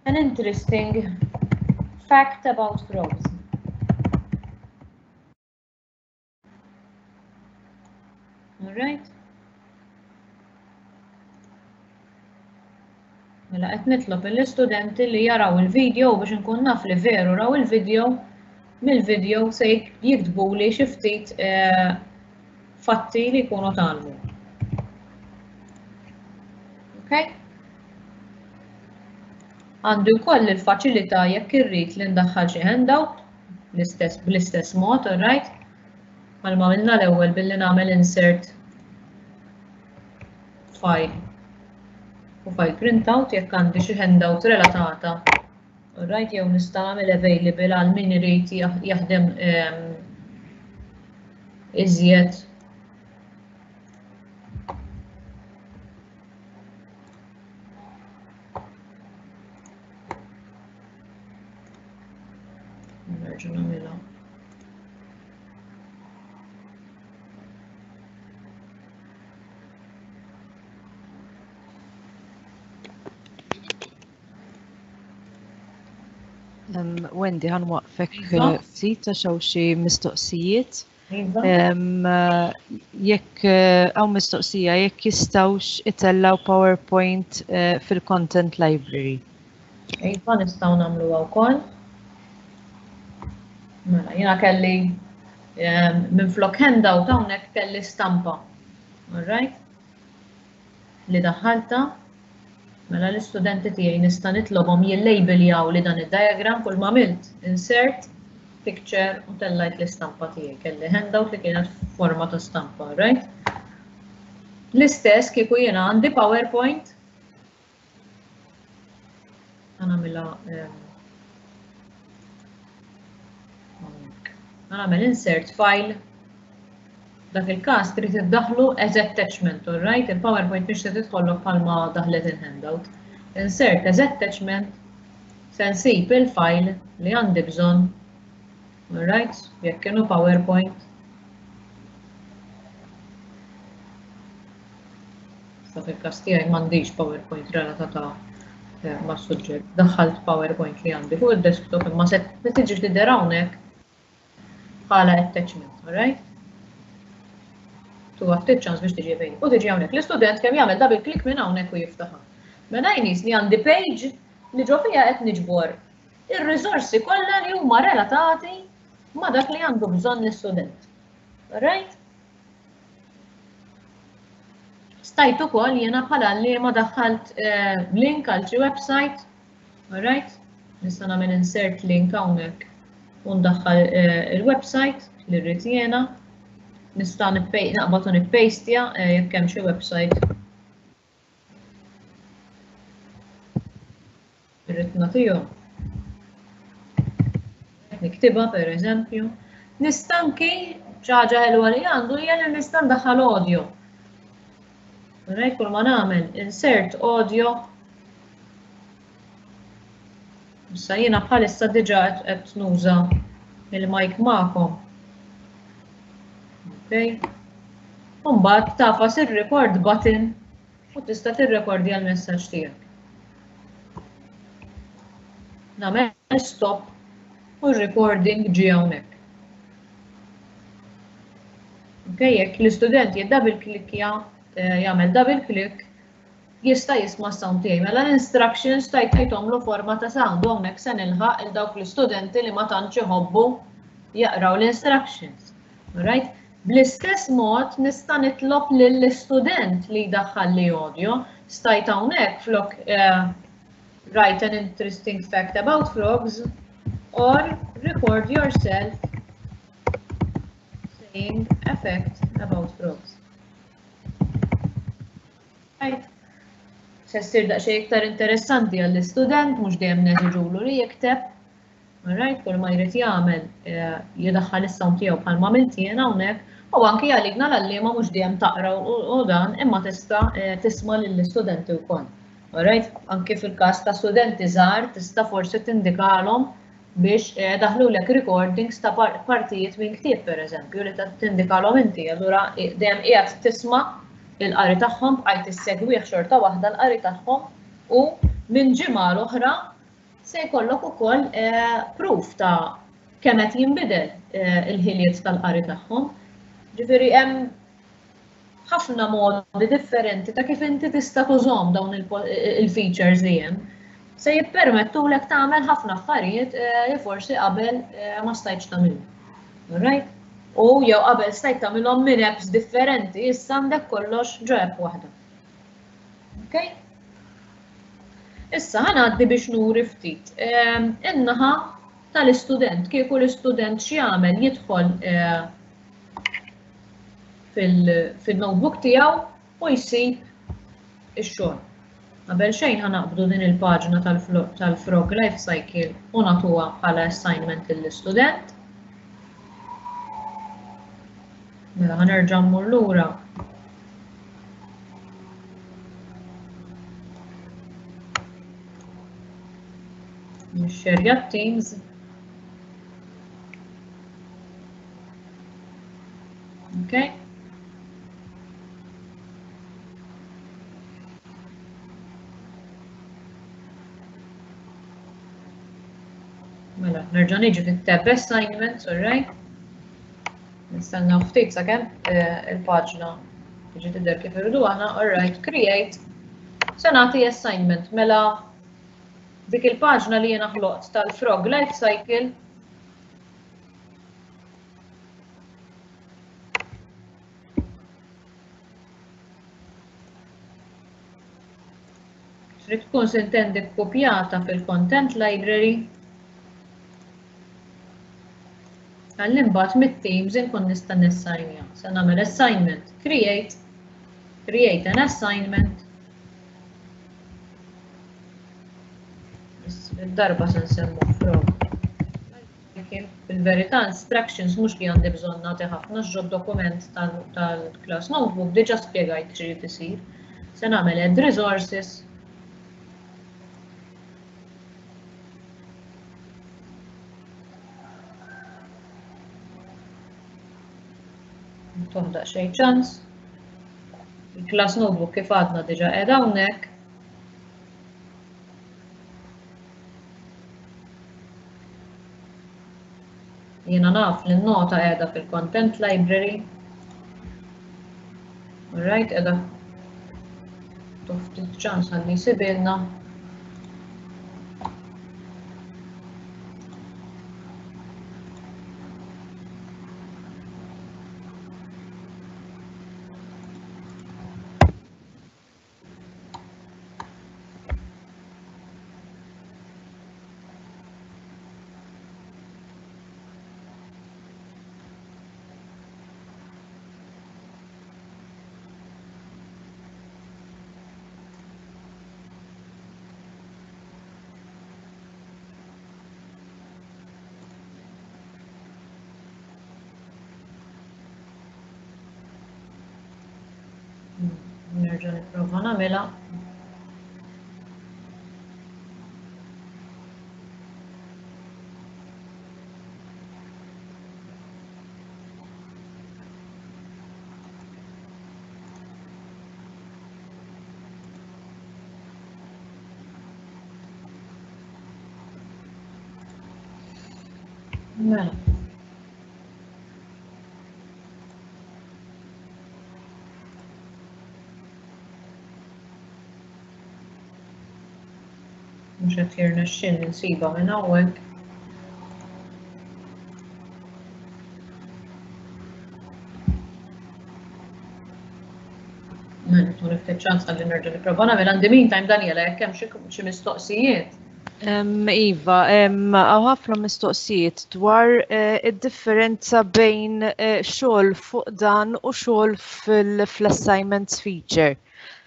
an interesting fact about frogs. Alright. Mela qed nitlob lill-istudenti li jaraw il-video biex inkun naf li veru raw il-video, mill-video se jiktbu li xi ftit eh, fatti li jkunu tgħallmu. Okay? Għandu wkoll il-faċilità jekk irrid li ndaħħal xi handout l-istess bl-istess mod, alright? Bħalma għamilna l-ewwel billi nagħmel insert file u file printout jekk għandi xi handout relatata. Alright, jew nista' nagħmel available għal min irid jaħdem ehm, iżjed. Nerġa' nagħmilha. Um, Wendy, ħa nwaqfek Iva. ftit għax hawn xi mistoqsijiet. Iva. Um, jekk hawn mistoqsija jekk jistgħux itellaw PowerPoint uh, fil-content library. Iva, nistgħu nagħmluha wkoll. Mela, jiena kelli um, minflok handout hawnhekk kelli stampa. Alright? Li daħħalta. Mela l-istudenti tiegħi nista' nitlobhom jillabeljaw li dan id-diagram kull ma għamilt insert picture u tellajt l-istampa tiegħi. Kelli handout li kienet forma ta' stampa, right? L-istess kieku jiena għandi PowerPoint. Ħa nagħmilha ħa nagħmel insert file. Dak il-każ trid iddaħlu as attachment, all right? Il-PowerPoint biex se tidħollok bħalma daħlet il-handout. Insert as attachment, se nsib il-file li għandi bżonn, all right? Jekk kienu PowerPoint. Sa fil-każ tiegħi m'għandix PowerPoint relatata eh, mas-suġġett. Daħħalt PowerPoint li għandi fuq id-desktop imma se tiġi tidher hawnhekk bħala attachment, all right? Tuha ftit ċans biex tiġi fejn. U tiġi hawnhekk. L-istudent kemm jagħmel double click minn hawnhekk u jiftaħha. Mela jnis li għandi page li ġo fiha qed niġbor ir-riżorsi kollha li huma relatati ma' dak li għandu bżonn l-istudent. Alright? Stajt ukoll jiena bħala li ma daħħalt eh, link għal xi website. Alright? Nista' nagħmel insert link hawnhekk u ndaħħal eh, il-website li rrid jiena. Nista' naqbad u nippastja eh, jekk hemm xi website. Irrid nagħtihom. niktibha per eżempju. Nista' anki xi ħaġa ħelwa li għandu hija li nista' ndaħħal audio. Right, kull ma nagħmel insert audio. Issa jiena bħalissa diġà qed nuża il-mic magħkom. Okay. U mbagħad tagħfas ir-record button u tista' tirrekordja l-messaġġ tiegħek. Nagħmel stop u r-recording ġie hawnhekk. Okay, jekk l-istudent jiddouble klikkja, jagħmel double click, jista' jisma' s-sound tiegħi. Mela l-instructions tajt tajthomlu forma ta' sound u hawnhekk se nilħaq il dawk l-istudenti li ma tantx iħobbu jaqraw l-instructions. Alright? Bl-istess mod nista' nitlob lill-istudent li jdaħħal li audio. Stajt hawnhekk flok write an interesting fact about frogs or record yourself saying a fact about frogs. Right. Se ssir daqsxejn iktar interessanti għall-istudent, mhux dejjem neżiġulu li jikteb. Alright, kull ma jrid jagħmel jidaħħal is-sound tiegħu bħalma għamilt jien hawnhekk, u anki għalikna l-għalliema mhux dejjem taqra u dan, imma tista' tisma' lill-istudenti wkoll. Alright, anki fil-każ ta' studenti żgħar tista' forsi tindikalhom biex daħlulek recordings ta' partijiet minn ktieb pereżempju li tindikalhom inti, allura dejjem qiegħed tisma' il-qari tagħhom, bqajt issegwih xorta waħda l-qari tagħhom u minn ġimgħa l-oħra se jkollok ukoll proof ta' kemm qed jinbidel il-ħiliet tal-qari tagħhom. Ġifieri hemm ħafna modi differenti ta' kif inti tista' tużhom dawn il-features li hemm. Se jippermettulek tagħmel ħafna affarijiet li forsi qabel ma stajtx tagħmilhom. Alright? U jew qabel stajt tagħmilhom minn apps differenti, issa għandek kollox ġo app waħda. Okay? Issa ħa ngħaddi biex nuri ftit. In-naħa tal-istudent, kieku l-istudent x'jagħmel jidħol fil-notebook tiegħu u jsib ix-xogħol. Qabel xejn ħa naqbdu din il-paġna tal-Frog Life Cycle u nagħtuha bħala assignment lill-istudent. Mela ħa nerġa' mmur lura. Nixxerja Teams. Okay. Mela, nerġa' niġi fit-tab assignments, all right? Nistennew ftit sakemm il-paġna tiġi tidher kif irridu aħna, all right, create. Se nagħti assignment, mela dik il-paġna li jiena ħloqt tal-Frog Life Cycle trid tkun sintendi kkupjata fil-content library. Għalli mbagħad mit-Teams inkun nista' nessajnja. Se nagħmel assignment, create, create an assignment. Id-darba se nsemmu frog. Fil-verità instructions mhux li għandi bżonn nagħti ħafna ġo dokument tal-class notebook diġà spjegajt x'irid isir. Se nagħmel add resources. Toħdaq xejn ċans. Il-class notebook kif għadna diġà qiegħda hawnhekk. Jiena naf li n-nota qiegħda fil-content library. All right, qiegħda ftit ċans ħalli jsibilna. Nerġa' nipprova nagħmilha. Mela. Mhux qed jirnexxielni nsibha minn hawnhekk. Mela, tuni ftit ċans ħalli nerġa' nipprova nagħmel. Għandi meantime, Daniela, jekk hemm xi mistoqsijiet. Iva, hawn ħafna mistoqsijiet dwar eh, id-differenza bejn eh, xogħol fuq dan u xogħol fl-assignments feature.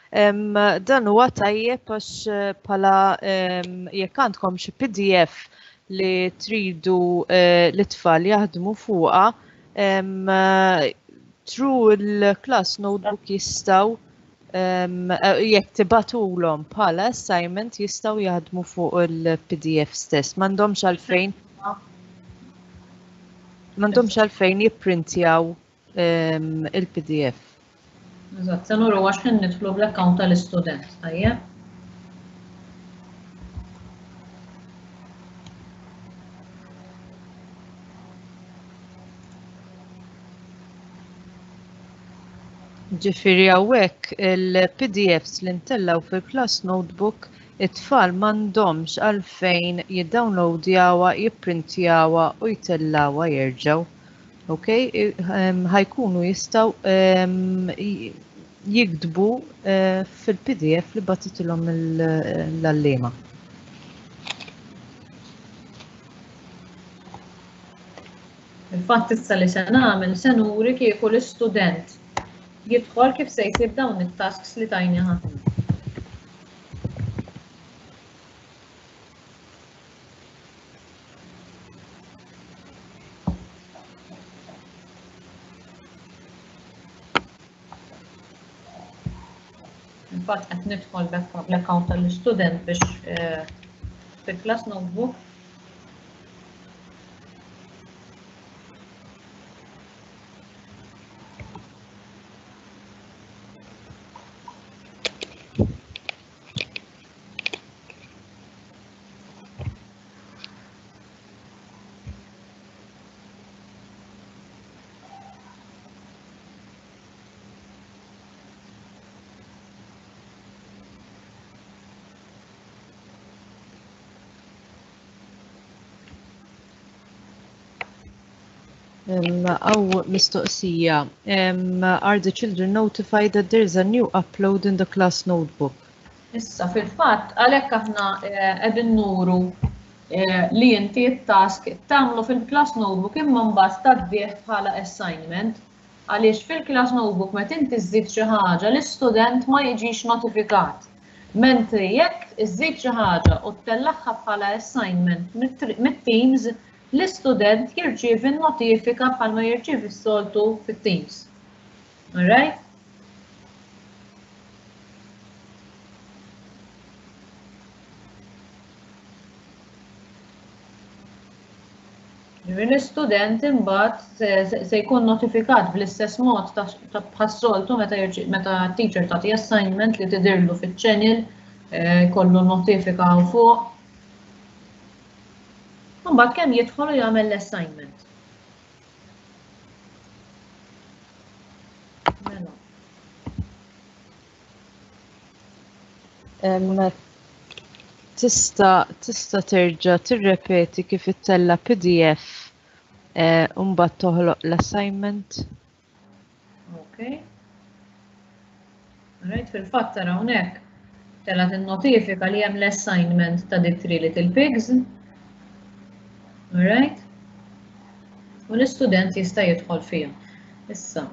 Dan huwa tajjeb għax eh, bħala jekk għandkom xi P D F li tridu li tfal jaħdmu fuqha, through il-class notebook jistgħu, jekk tibagħtulhom bħala assignment, jistgħu jaħdmu fuq il-P D F stess. M'għandhomx għalfejn m'għandhomx għalfejn jipprintjaw il-P D F. Eżatt, se nuru għax ħin nidħlu bl-account tal-istudent, tajjeb? Ġifieri hawnhekk il-P D Fs li ntellgħu fil-class notebook, it-tfal m'għandhomx għalfejn jiddownloadjawha, jipprintjawha u jtellgħuha jerġgħu. Ok, ħa jkunu jistgħu jiktbu eh, fil-P D F li bagħtitilhom l-għalliema. Il-fatt issa li se nagħmel, se nuri kieku l-istudent jidħol kif se jsib dawn it-tasks li tajni ħafna. Infatti qed nidħol bl-account tal-istudent biex eh, fil-class notebook. Hawn mistoqsija. Um, are the children notified that there is a new upload in the class notebook? Issa, fil-fatt, għalhekk aħna eh, qegħdin nuru eh, li inti t-task tagħmlu fil-class notebook imma mbagħad tgħaddih bħala assignment, għaliex fil-class notebook meta inti żżid xi ħaġa, l-istudent ma jiġix notifikat. Mentri jekk iżżid xi ħaġa u ttellagħha bħala assignment mit-Teams, l-istudent jirċievi notifika bħalma jirċievi s-soltu fit-Teams. Alright? L-istudent imbagħad se jkun notifikat bl-istess mod ta' bħas-soltu meta meta teacher tagħti assignment li tidirlu fiċ-channel, eh, kollu notifika fuq. Mbagħad kemm jidħol u jagħmel l-assignment. Mela. Tista' tista' terġa' tirrepeti kif ittella' P D F eh, u mbagħad toħloq l-assignment? Ok. Right, fil-fatt tara hawnhekk telgħet in-notifika li hemm l-assignment ta' The Three Little Pigs. Alright? U l-istudent jista' jidħol fiha. Issa,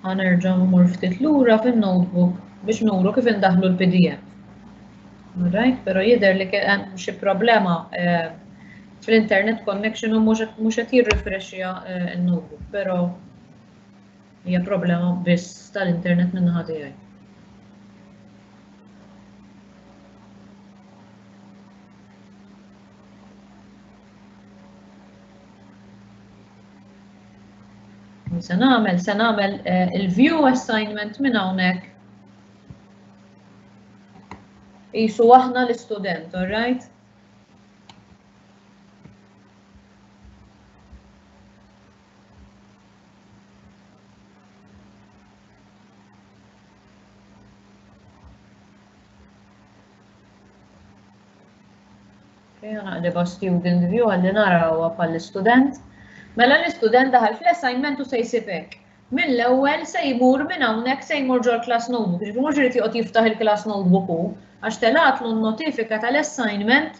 ħa nerġa' mmur ftit lura fin-notebook biex nuru kif indaħlu l-P D F. Alright, pero jidher li hemm xi problema eh, fl-internet connection u mhux qed jirrifreshja eh, n-notebook, però hija problema biss tal-internet minn naħa tiegħi. Se nagħmel, se nagħmel il-view assignment minn hawnhekk. Qisu aħna l-istudent, all right? Okay, naqlibha student view għalli narawha bħall-istudent. Mela l-istudent daħal fl-assignment u se jsib hekk. Mill-ewwel se jmur minn hawnhekk se jmur ġol class notebook. Ġifieri mhux irid joqgħod jiftaħ il-class notebook hu, għax telatlu n-notifika tal-assignment,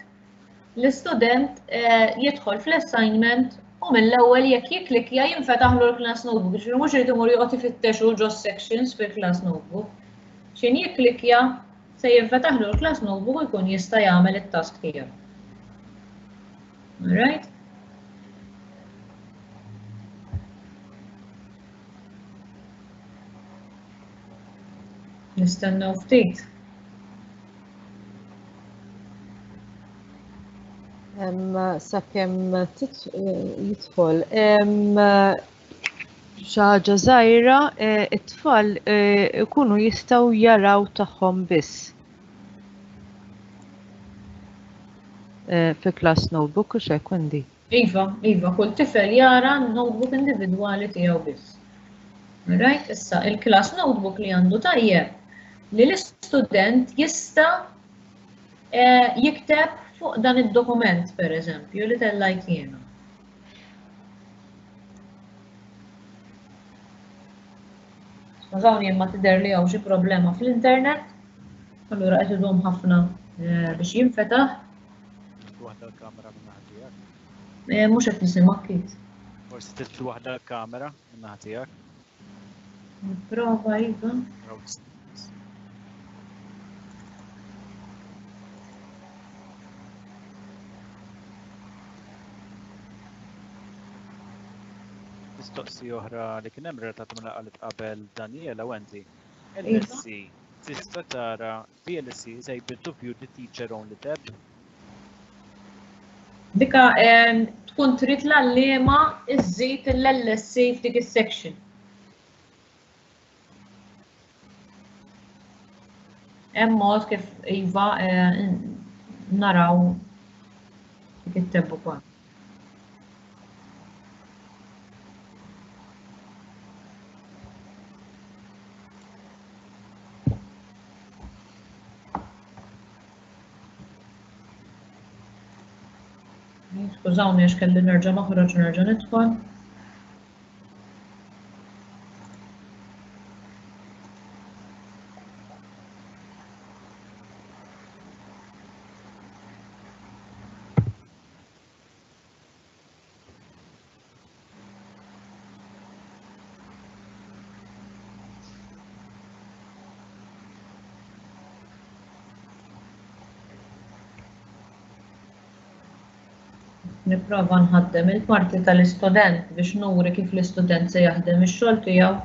l-istudent jidħol fl-assignment u mill-ewwel jekk jikklikja jinfetaħlu l-class notebook. Ġifieri mhux irid imur joqgħod ifittex hu ġo sections fil-class notebook. X'in jikklikja se jinfetaħlu l-class notebook u jkun jista' jagħmel it-task tiegħu. All right? Nistennew ftit. Sakemm jidħol xi ħaġa żgħira, it-tfal ikunu jistgħu jaraw tagħhom biss fi class notebook u x'hekk, Wendy. Iva, iva, kull tifel jara notebook individwali tiegħu biss. Right, issa il-class notebook li għandu tajjeb li l-istudent jista' jikteb fuq dan id-dokument, per eżempju, li tellajt jiena. Skużawni imma tidher li hawn xi problema fl-internet, allura qed idum ħafna biex jinfetaħ. Waħda l-kamera minn naħa tiegħek. Mhux qed nisimgħek, Kit. Forsi titfi waħda l-kamera minn naħa tiegħek. Nipprova, iva. Mistoqsija oħra li kien hemm relatata ma' qalet qabel Daniela Wendy. L L C tista' tara V L C is able to view the teacher only tab. Dika tkun trid l-għalliema iżżid l-L S C f'dik is-section. Hemm mod kif iva naraw dik it-tab ukoll. Skużawni għax kelli nerġa' noħroġ u nerġa' nidħol. Nipprova nħaddem il-parti tal-istudent biex nuri kif l-istudent se jaħdem ix-xogħol tiegħu.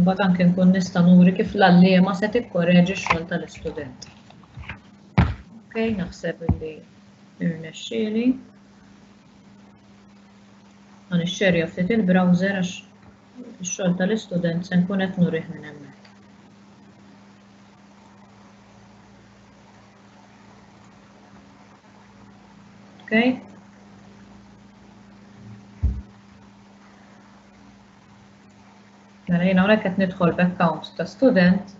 Imbagħad anke nkun nista' nuri kif l-għalliema se tikkoreġi x-xogħol tal-istudent. Ok, naħseb li irnexxieli. Ħa nixxerja ftit il-browser għax ix-xogħol tal-istudent se nkun qed nurih minn hemmhekk. Ok. Mela jiena hawnhekk qed nidħol b'account ta' student.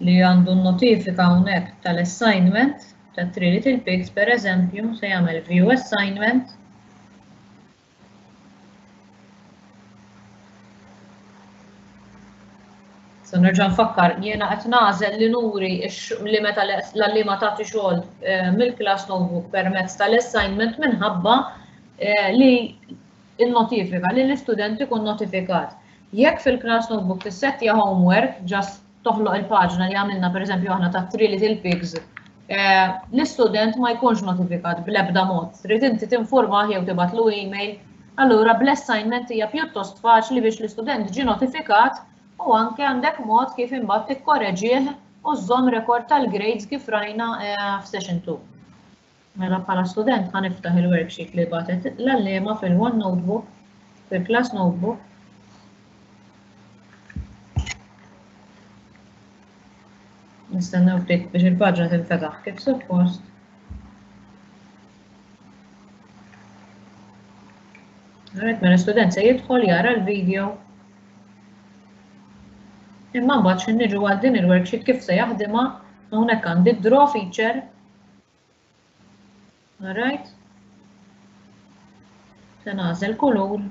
Li għandu notifika hawnhekk tal-assignment ta' Three Little Pigs, per eżempju, se jagħmel view assignment. Se nerġa' nfakkar, jiena qed nagħżel li nuri x-, li meta l-għalliema tagħti xogħol, eh, mill-class notebook permezz tal-assignment minħabba li il-notifika, li l-istudent ikun notifikat. Jekk fil-class notebook tissettja homework, just toħloq il-paġna li għamilna per eżempju aħna ta' Three Little Pigs, l-istudent ma jkunx notifikat bl-ebda mod. Trid inti tinformah jew tibgħatlu email. Allura bl-assignment hija pjuttost faċli biex l-istudent ġie notifikat u anke għandek mod kif imbagħad tikkoreġih u żżomm rekord tal-grades kif rajna f'session two. Mela bħala student ħa niftaħ il-worksheet li bagħtet l-għalliema fil-One Notebook, fil-Class Notebook. Nistennew ftit biex il-paġna tinfetaħ kif suppost. Alright, mela student se jidħol jara l-video. Imma mbagħad x'in niġu għal din il-worksheet kif se jaħdimha, hawnhekk għandi draw feature. Alright. Se nagħżel kulur.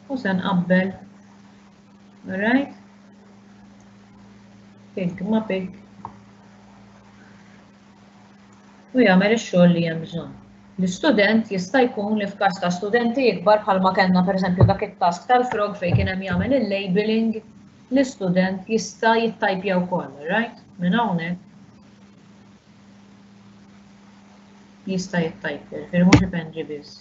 U se nqabbel. Alright. Pig ma pig. U jagħmel ix-xogħol li hemm bżonn. L-istudent jista' jkun li f'każ ta' studenti ikbar bħalma kellna pereżempju dak it-task tal-frog fejn kien hemm jagħmel il-labeling, l-istudent jista' jittajpja wkoll, right? Minn hawnhekk jista' jittajpja, ġifieri mhux ipenġi biss.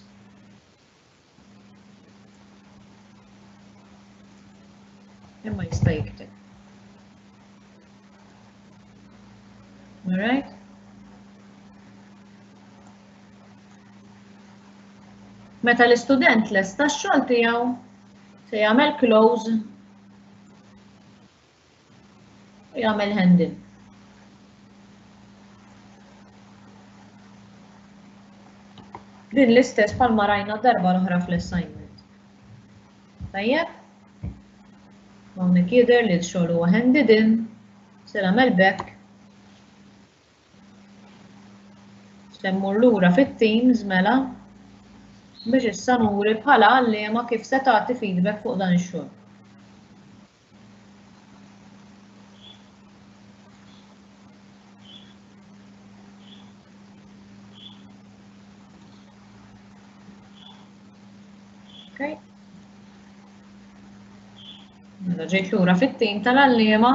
Imma jista' jikteb. All right? Meta l-istudent lesta x-xogħol tiegħu se jagħmel close u jagħmel hand in. Din l-istess bħalma rajna darba l-oħra fl-assignment. Tajjeb? Hawnhekk jidher li x-xogħol huwa handed in, se nagħmel back. Se mmur lura fit-Teams mela biex issa nuri bħala għalliema kif se tagħti feedback fuq dan ix-xogħol. Okay. Mela ġejt lura fit-tim tal-għalliema.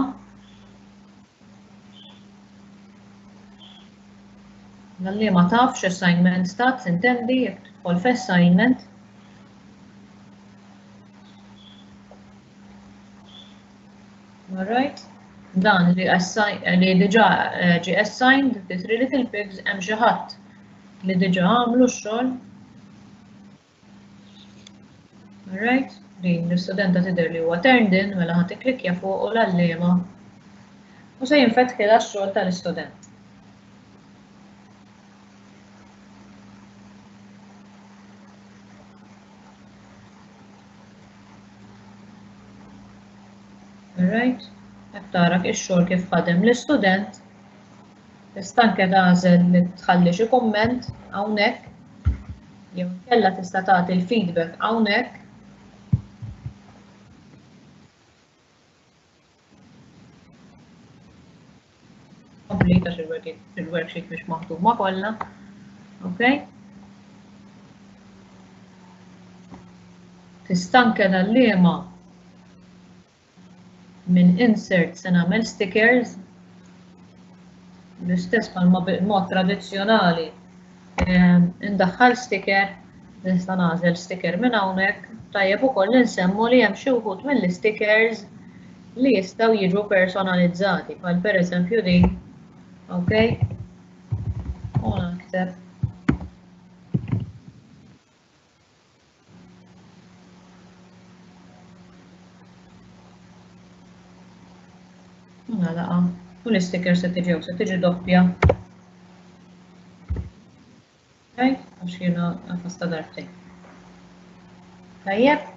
L-għalliema taf x'assignment stat, intendi, jekk tidħol f'assignment. All right. Dan li li diġà ġie assigned, the Three Little Pigs, hemm xi ħadd li diġà għamlu x-xogħol. All right. Din l-istudenta tidher li huwa turned in, mela ħa tikklikkja fuq u l-għalliema u se jinfetħilha x-xogħol tal-istudent. All right. Qed tara ix-xogħol kif ħadem l-istudent. Tista' anke tagħżel li tħalli xi kumment hawnhekk, jew inkella tista' tagħti l-feedback hawnhekk. Complete għax il-worksheet mhix maħduma kollha. Okay? Tista' anke l-għalliema minn insert se nagħmel stickers l-istess bħalma b'mod tradizzjonali indaħħal sticker, nista' nagħżel sticker minn hawnhekk. Tajjeb ukoll insemmu li hemm xi wħud mill-stickers li jistgħu jiġu personalizzati, bħal pereżempju din. Okay? U nakteb nagħlaqha u l-isticker se tiġi se tiġi doppja. Okay? Għax jiena għafasta darbtejn. Tajjeb.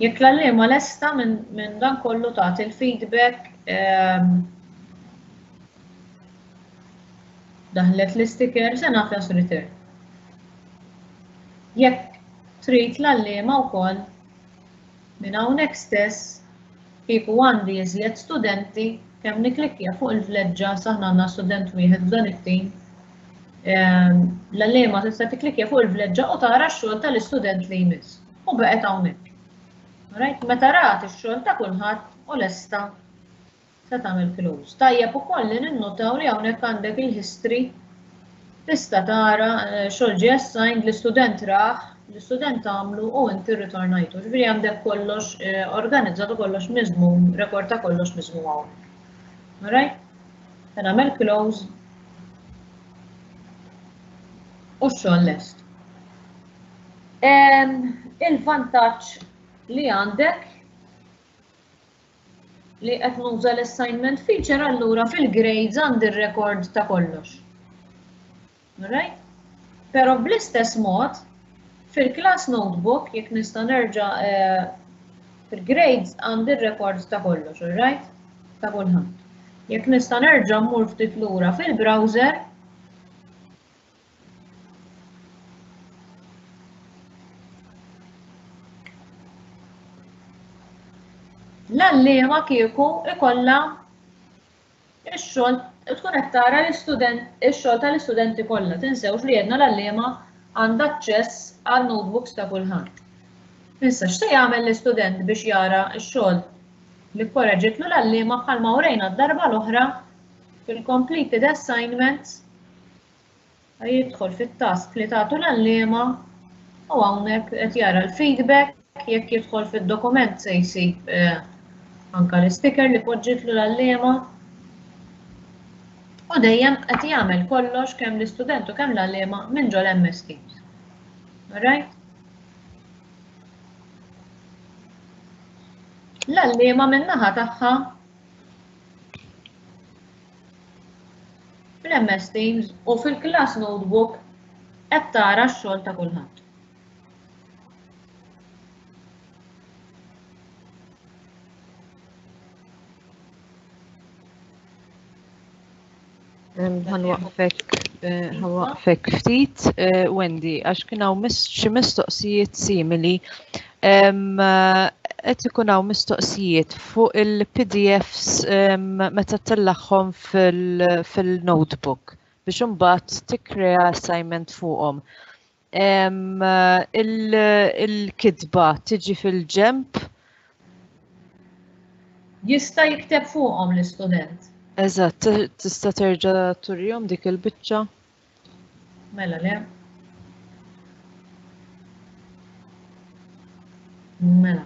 Jekk l-għalliema lesta minn dan kollu tagħti l-feedback, daħlet l-isticker se nagħfas return. Jekk trid l-għalliema wkoll minn hawnhekk stess kieku għandi iżjed studenti Kemm niklikkja fuq il-vleġġa saħna għandna student wieħed f'dan it-tim. L-għalliema tista' tikklikkja fuq il-vleġġa u tara x-xogħol tal-istudent li jmiss. U baqgħet hawnhekk. Right? Meta rat ix-xogħol ta' kulħadd u lesta se tagħmel close. Tajjeb ukoll li ninnotaw li hawnhekk għandek il-history tista' tara xogħol ġie assigned, l-istudent raħ, l-istudent għamlu u inti rritornajtu. Ġifieri għandek kollox organizzat u kollox miżmum, rekord ta' kollox miżmum hawnhekk. Alright? Se nagħmel close u x-xogħol lest. Il-vantaġġ li għandek li qed nuża l-assignment feature allura fil-grades għandi r-rekord ta' kollox. Alright? Però bl-istess mod fil-class notebook jekk nista' nerġa' fil-grades għandi r-rekord ta' kollox, alright? Ta' kulħadd. Jekk nista' nerġa' mmur ftit lura fil-browser, l-għalliema kieku ikollha ix-xogħol tkun qed tara l-istudent ix-xogħol tal-istudenti kollha. Tinsewx li għedna l-għalliema għandha aċċess għan-notebooks ta' kulħadd. Issa x'se jagħmel l-istudent biex jara x-xogħol li korreġitlu l-għalliema bħalma urejna d-darba l-oħra fil-completed assignments jidħol fit-task li tagħtu l-għalliema u hawnhekk qed jara l-feedback, jekk jidħol fid-dokument se jsib anka l-sticker li poġġitlu l-għalliema u dejjem qed jagħmel kollox kemm l-istudent u kemm l-għalliema minn ġol M S Teams. Alright? L-għalliema min-naħa tagħha fl-M S Teams u fil-class notebook qed tara x-xogħol ta' kulħadd. Ħanwaqfek, ħanwaqfek ftit, Wendy, għax kien hawn xi mistoqsijiet simili. Qed ikun hawn mistoqsijiet fuq il-P D Fs meta tellagħhom fil-notebook biex imbagħad tikkrea assignment fuqhom. Il-kitba tiġi fil-ġemp? Jista' jikteb fuqhom l-istudent. Eżatt, tista' terġa' turihom dik il-biċċa? Mela le. Mela.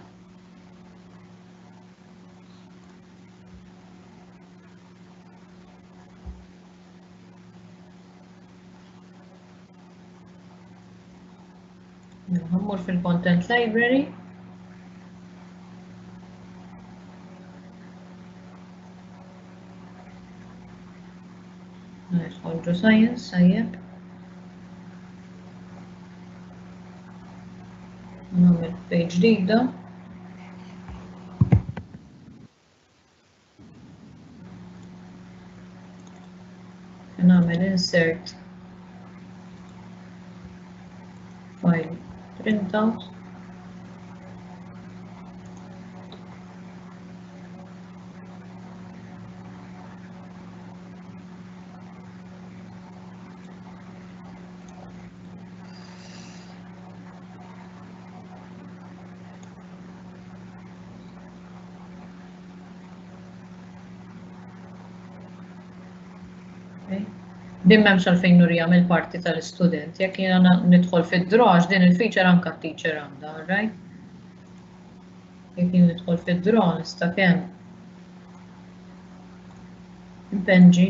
Ħammur fil-content library. Nidħol ġo science, sajjeb. Nagħmel page ġdida. Nagħmel insert file printout. Din m'hemmx għalfejn nurija mill-parti tal-istudent, jekk jiena nidħol fid-draw għax din il-feature anke t-teacher għandha, all right? Jekk jien nidħol fid-draw nista' kemm impenġi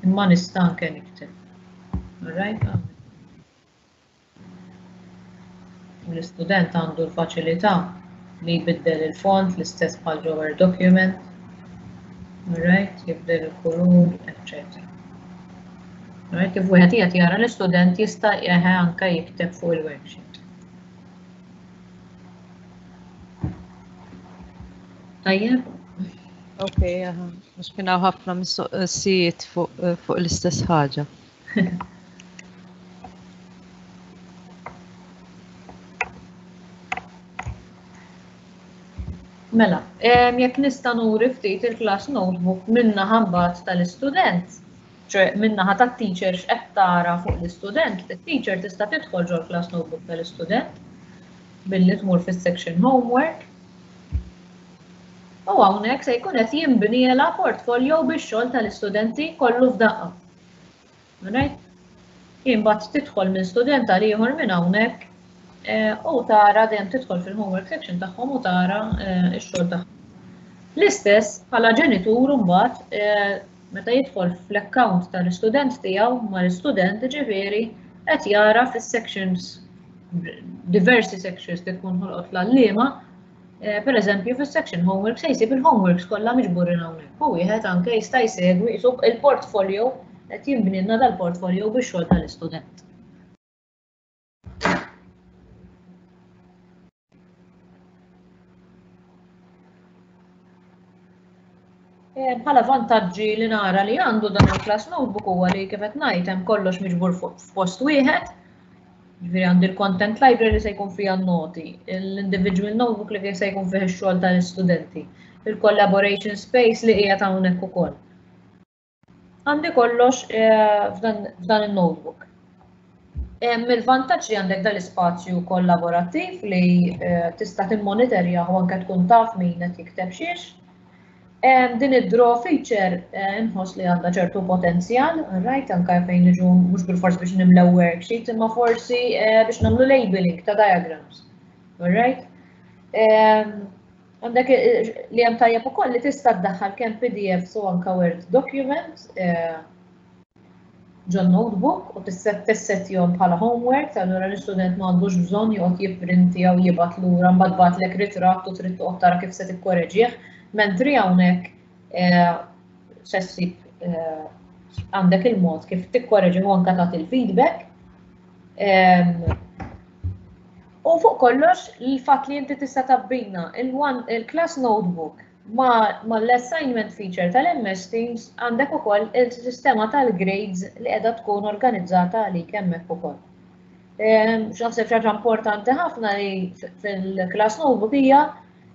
imma nista' anke nikteb. All right? L-istudent għandu l-faċilità li jbiddel il-font l-istess bħal ġo Word document. Right, jibdel il-kulur, eccetera. Right, kif wieħed qiegħed jara l-istudent jista' eħe anke jikteb fuq il-worksheet. Tajjeb? Ok, aha. Mhux kien hawn ħafna mistoqsijiet fuq, fuq l-istess ħaġa. Mela, jekk nista' nuri ftit il-class notebook min-naħa mbagħad tal-istudent, ċe min-naħa tat-teacher x'qed tara fuq l-istudent, it-teacher tista' tidħol ġol-class notebook tal-istudent billi tmur fis-section homework. U hawnhekk se jkun qed jinbnielha portfolio bix-xogħol tal-istudenti kollu f'daqqa. Right? Imbagħad tidħol minn student għal ieħor minn hawnhekk u tara dejjem tidħol fil-homework section tagħhom u tara x-xogħol tagħhom. L-istess bħala ġenitur imbagħad meta jidħol fl-account tal-istudent tiegħu mal-istudent ġifieri qed jara fis-sections diversi sections li tkun ħolqot l-għalliema, per eżempju fis-section homework se jsib il-homeworks kollha miġburin hawnhekk. U wieħed anke jista' jsegwi il-portfolio qed jinbnilna dal-portfolio bix-xogħol tal-istudent. Bħala vantaġġi li nara li għandu dan il-class notebook huwa li kif qed ngħid hemm kollox miġbur f'post wieħed. Ġifieri għandi l-content library li se jkun fiha n-noti, l-individual notebook li se jkun fih ix-xogħol tal-istudenti, il-collaboration space li qiegħed hawnhekk ukoll. Għandi kollox f'dan il-notebook. Il-vantaġġ li għandek dal-ispazju kollaborattiv li tista' timmonitorja u anke tkun taf min qed jikteb xiex. Din id-draw feature inħoss li għandha ċertu potenzjal, right, anke fejn niġu mhux bilfors biex nimlew worksheet, imma forsi biex nagħmlu labeling ta' diagrams. Right? Għandek li hemm tajjeb ukoll li tista' ddaħħal kemm P D F u anke Word document ġon notebook u tissettihom bħala homework, allura l-istudent ma għandux bżonn joqgħod jipprinti jew jibgħat lura mbagħad bagħatlek ritratt u trid toqgħod tara kif se tikkoreġih. Mentri hawnhekk se ssib għandek il-mod kif tikkoreġi u anke tagħti il-feedback. U fuq kollox il-fatt li inti tista' tabbina il-class notebook ma l-assignment feature tal-M S Teams għandek ukoll il-sistema tal-grades li qiegħda tkun organizzata għalik hemmhekk ukoll. X'naħseb xi ħaġa importanti ħafna li fil-class notebook hija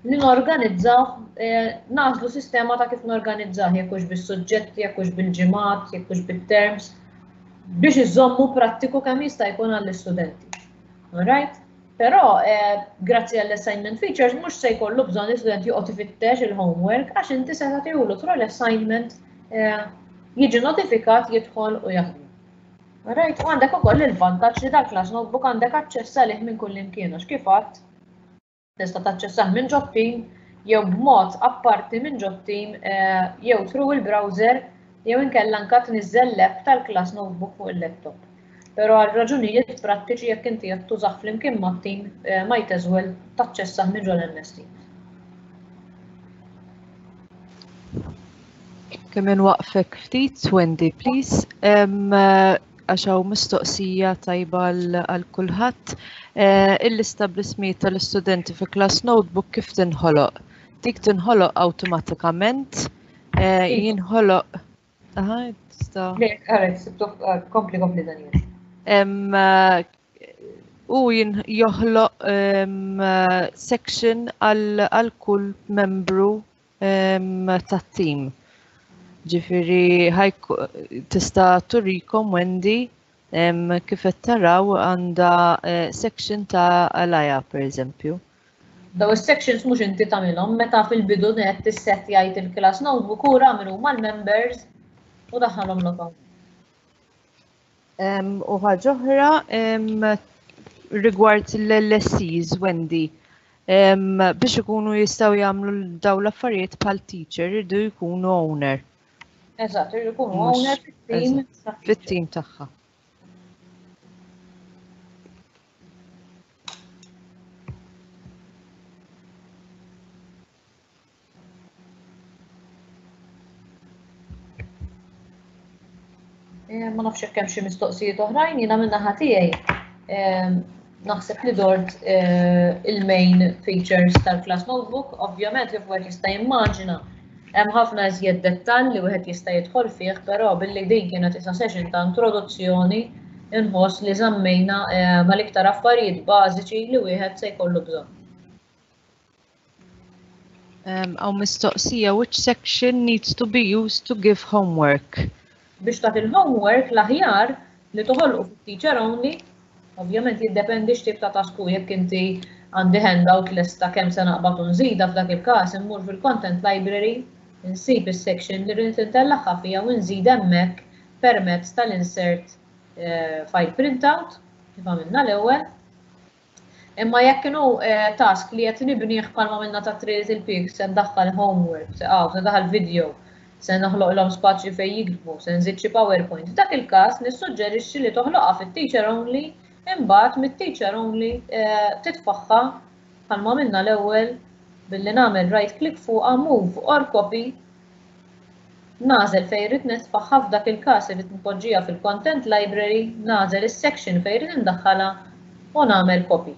li norganizzaw, nażlu sistema ta' kif norganizzaw, jekk hux bis-suġġetti, jekk hux bil-ġimgħat, jekk hux bit-terms, biex iżommu prattiku kemm jista' jkun għall-istudenti. Alright? Però grazzi għall-assignment features mhux se jkollu bżonn l-istudent joqgħod ifittex il-homework għax inti se tagħtihulu through l-assignment jiġi notifikat jidħol u jaħdem. Alright? U għandek ukoll il-vantaġġ li dal-class notebook għandek aċċess għalih minn kull imkien għax kif għadt tista' taċċessah minn ġo team jew b'mod apparti minn ġo team jew through il-browser jew inkella anke tniżżel l-app tal-class notebook fuq il-laptop. Però għal raġunijiet prattiċi jekk inti qed tużah flimkien mat-team might as well taċċessah minn ġol M S Teams. Kemm inwaqfek ftit, Wendy, please. Għax hawn mistoqsija tajba għal kulħadd. Il-lista bl-ismijiet tal-istudenti fi class notebook kif tinħoloq? Dik tinħoloq awtomatikament, jinħoloq. Aha, tista'. Le, għaret, kompli, kompli, Daniel. U joħloq section għal kull membru tat-team. Ġifieri tista' turikom Wendy kif qed taraw għandha section ta' Alaja pereżempju. Daw is-sections mhux inti tagħmilhom meta fil-bidu net tisset jgħid il-class notebook u ra min huma l-members u daħħalhom lok. U ħaġa oħra rigward l-L S Cs, Wendy, biex ikunu jistgħu jagħmlu daw l-affarijiet bħal teacher irridu jkunu owner. Eżatt, irridu jkunu owner fit-team. Fit-team tagħha. Ma nafx jekk hemm xi mistoqsijiet oħrajn, jiena min-naħa tiegħi naħseb li dort il-main features tal-class notebook. Ovvjament kif wieħed jista' jimmaġina hemm ħafna iżjed dettall li wieħed jista' jidħol fih, però billi din kienet isa session ta' introduzzjoni inħoss li żammejna mal-iktar affarijiet bażiċi li wieħed se jkollu bżonn. Hawn mistoqsija, which section needs to be used to give homework? Biex tagħti il-homework l-aħjar li toħolqu fit-teacher only, ovvjament jiddependi x'tip ta' task hu, jekk inti għandi handout lesta kemm se naqbad u nżida, f'dak il-każ immur fil-content library, insib is-section li rrid intellagħha fiha u nżid hemmhekk permezz tal-insert eh, file printout kif għamilna l-ewwel. Imma jekk kienu eh, task li qed nibnih bħalma għamilna ta' Three Little Pigs, se ndaħħal homework, se ah, se ndaħħal video, se noħloqlhom spazju fejn jiktbu, se nżid xi PowerPoint. F'dak il-każ nissuġġerixxi li toħloqha fit-teacher only, imbagħad mit-teacher only eh, titfaħħa bħalma għamilna l-ewwel billi nagħmel right click fuqha move or copy nagħżel fejn irrid nitfaħħa f'dak il-każ irrid npoġġiha fil-content library, nagħżel is-section fejn irrid indaħħalha u nagħmel copy.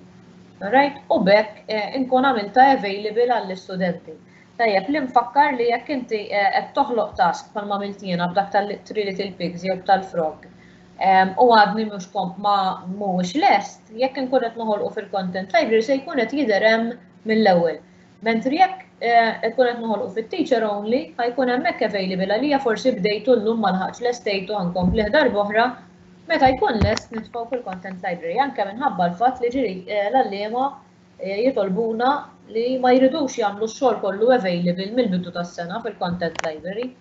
Alright? U b'hekk eh, inkun għamilta available għall-istudenti. Tajjeb, li nfakkar li jekk inti eh, qed toħloq task bħalma għamilt jiena b'dak tal-Three Little Pigs jew tal-Frog u għadni mhux komp ma mhuwiex lest, jekk inkun qed noħolqu fil-content library se jkun qed jidher hemm mill-ewwel. Mentri jekk ikun qed noħolqu fit-teacher only, ħa jkun hemmhekk available għalija forsi bdejtu llum ma lħaqx lestejtu ħa nkompli darb'oħra meta jkun lest nitfgħu fil-content library anke minħabba l-fatt li ġieli l-għalliema jitolbuna li ma jridux jagħmlu x-xogħol kollu available mill-bidu tas-sena fil-content library.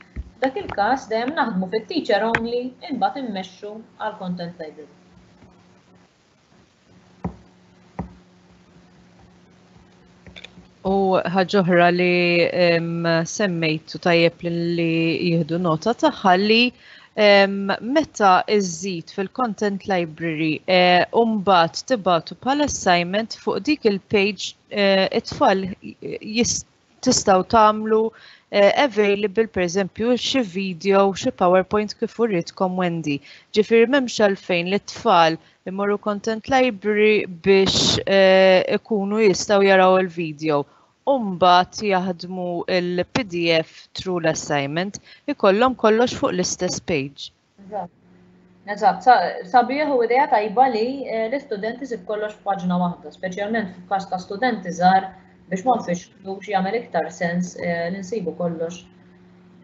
Dak il-każ dejjem naħdmu fit-teacher only imbagħad immexxu għal content library. U ħaġa oħra li semmejtu tajjeb li jieħdu nota tagħha li meta iżżid fil-content library u mbagħad tibagħtu bħala assignment fuq dik il-page it-tfal tistgħu tagħmlu available per eżempju xi video, xi PowerPoint kif uritkom Wendy. Ġifieri m'hemmx għalfejn li t-tfal imorru content library biex ikunu jistgħu jaraw il-video. U mbagħad jaħdmu il-PDF through l-assignment, ikollhom kollox fuq l-istess page. Eżatt, sabiħ u idea tajba li l-istudenti isib kollox f'paġna waħda, speċjalment f'każ ta' studenti żgħar biex ma nfixklux jagħmel iktar sens li nsibu kollox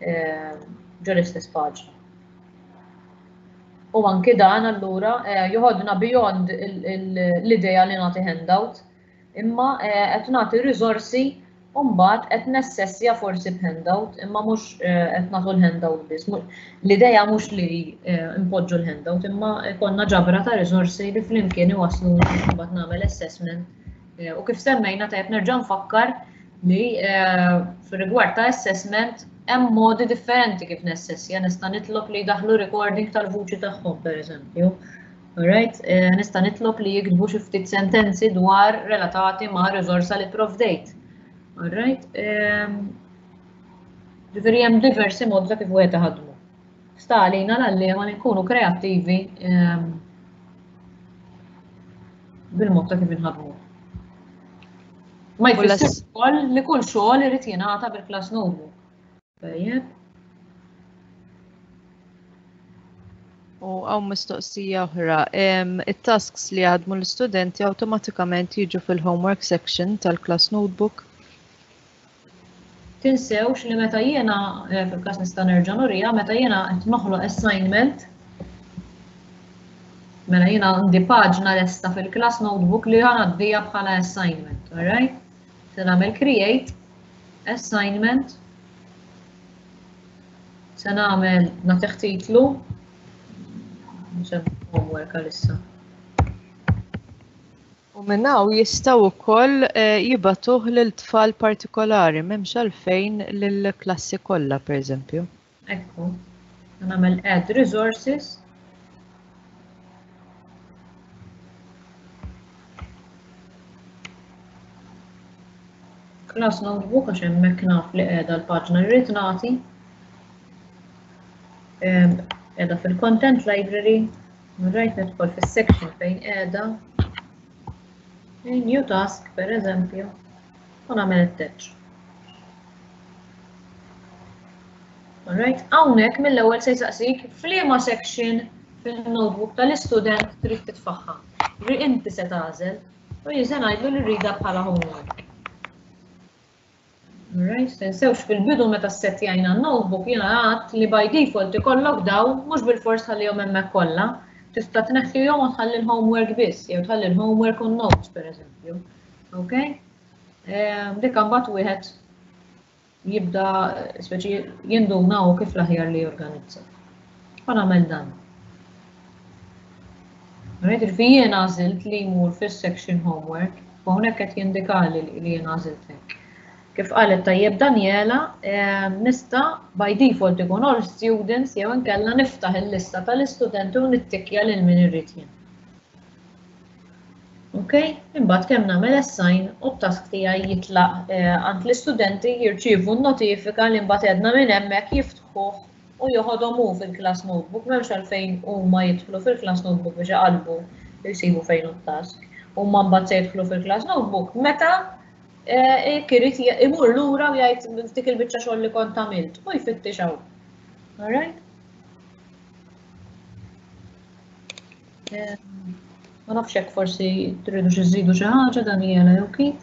ġo l-istess paġna. U anki dan allura joħodna beyond l-idea li nagħti handout, imma qed nagħti riżorsi u mbagħad qed nessessja forsi b'handout, imma mhux qed nagħtu l-handout biss. L-idea mhux li npoġġu l-handout, imma konna ġabra ta' riżorsi li flimkien iwasluna mbagħad nagħmel assessment. U kif semmejna tajjeb nerġa' nfakkar li fir-rigward ta' assessment hemm modi differenti kif nessessja, nista' nitlob li jdaħħlu recording tal-vuċi tagħhom pereżempju. Alright, nista' nitlob li jiktbu xi ftit sentenzi dwar relatati ma' riżorsa li provdejt. Alright, ġifieri hemm diversi modi ta' kif wieħed iħaddmu. Sta għalina l-għalliema li nkunu kreattivi bil-mod ta' kif inħadmu. Ma jfissirx ukoll li kull xogħol irid jingħata bil-class notebook. Tajjeb. U hawn mistoqsija oħra, it-tasks li jaħdmu l-istudenti awtomatikament jiġu fil-homework section tal-class notebook? Tinsewx li meta jiena, fil-każ nista' nerġa' nurija, meta jiena qed noħloq assignment, mela jiena għandi paġna lesta fil-class notebook li ngħaddija bħala assignment, alright? Se nagħmel create assignment, se nagħmel nagħtih titlu, homework għalissa. U minn hawn jistgħu wkoll jibagħtuh lil tfal partikolari, m'hemmx għalfejn lill-klassi kollha pereżempju. Ekku, nagħmel add resources. Class notebook għax hemmhekk naf li qiegħda l-paġna li rrid nagħti. Qiegħda fil-content library, rajt nidħol fis-section fejn qiegħda. New task, per eżempju, u nagħmel attach. Alright, hawnhekk mill-ewwel se jsaqsik f'liema section fil-notebook tal-istudent trid titfaħħa. Ri inti se tagħżel u jien se ngħidlu li rridha bħala homework. Alright, tinsewx fil-bidu meta ssettjajna n-notebook jiena għedt li by default ikollok daw mhux bilfors tħallihom hemmhekk kollha. Tista' tneħħihom u tħalli l-homework biss, jew tħalli l-homework u notes pereżempju. Ok? Dik imbagħad wieħed jibda speċi jinduna u kif l-aħjar li jorganizza. Ħa nagħmel dan. Right, jiena għażilt li jmur fis-section homework, u hawnhekk qed jindikali li jien għażilt hekk. Kif qalet tajjeb Daniela, nista' by default ikun all students jew inkella niftaħ il-lista tal-istudenti u nittikja lil min irrid jien. Ok, imbagħad kemm nagħmel assign u t-task tiegħi jitlaq għand l-istudenti jirċievu n-notifika li mbagħad għedna minn hemmhekk jiftħuh u joħodhom hu fil-class notebook, m'hemmx għalfejn huma jidħlu fil-class notebook biex iqalbu jsibu fejn hu t-task. Huma mbagħad se jidħlu fil-class notebook meta irid imur lura u jgħid dik il-biċċa xogħol li kont għamilt u jfittix hawn. All right? Ma nafx hekk forsi tridu xi żidu xi ħaġa Daniela jew kif?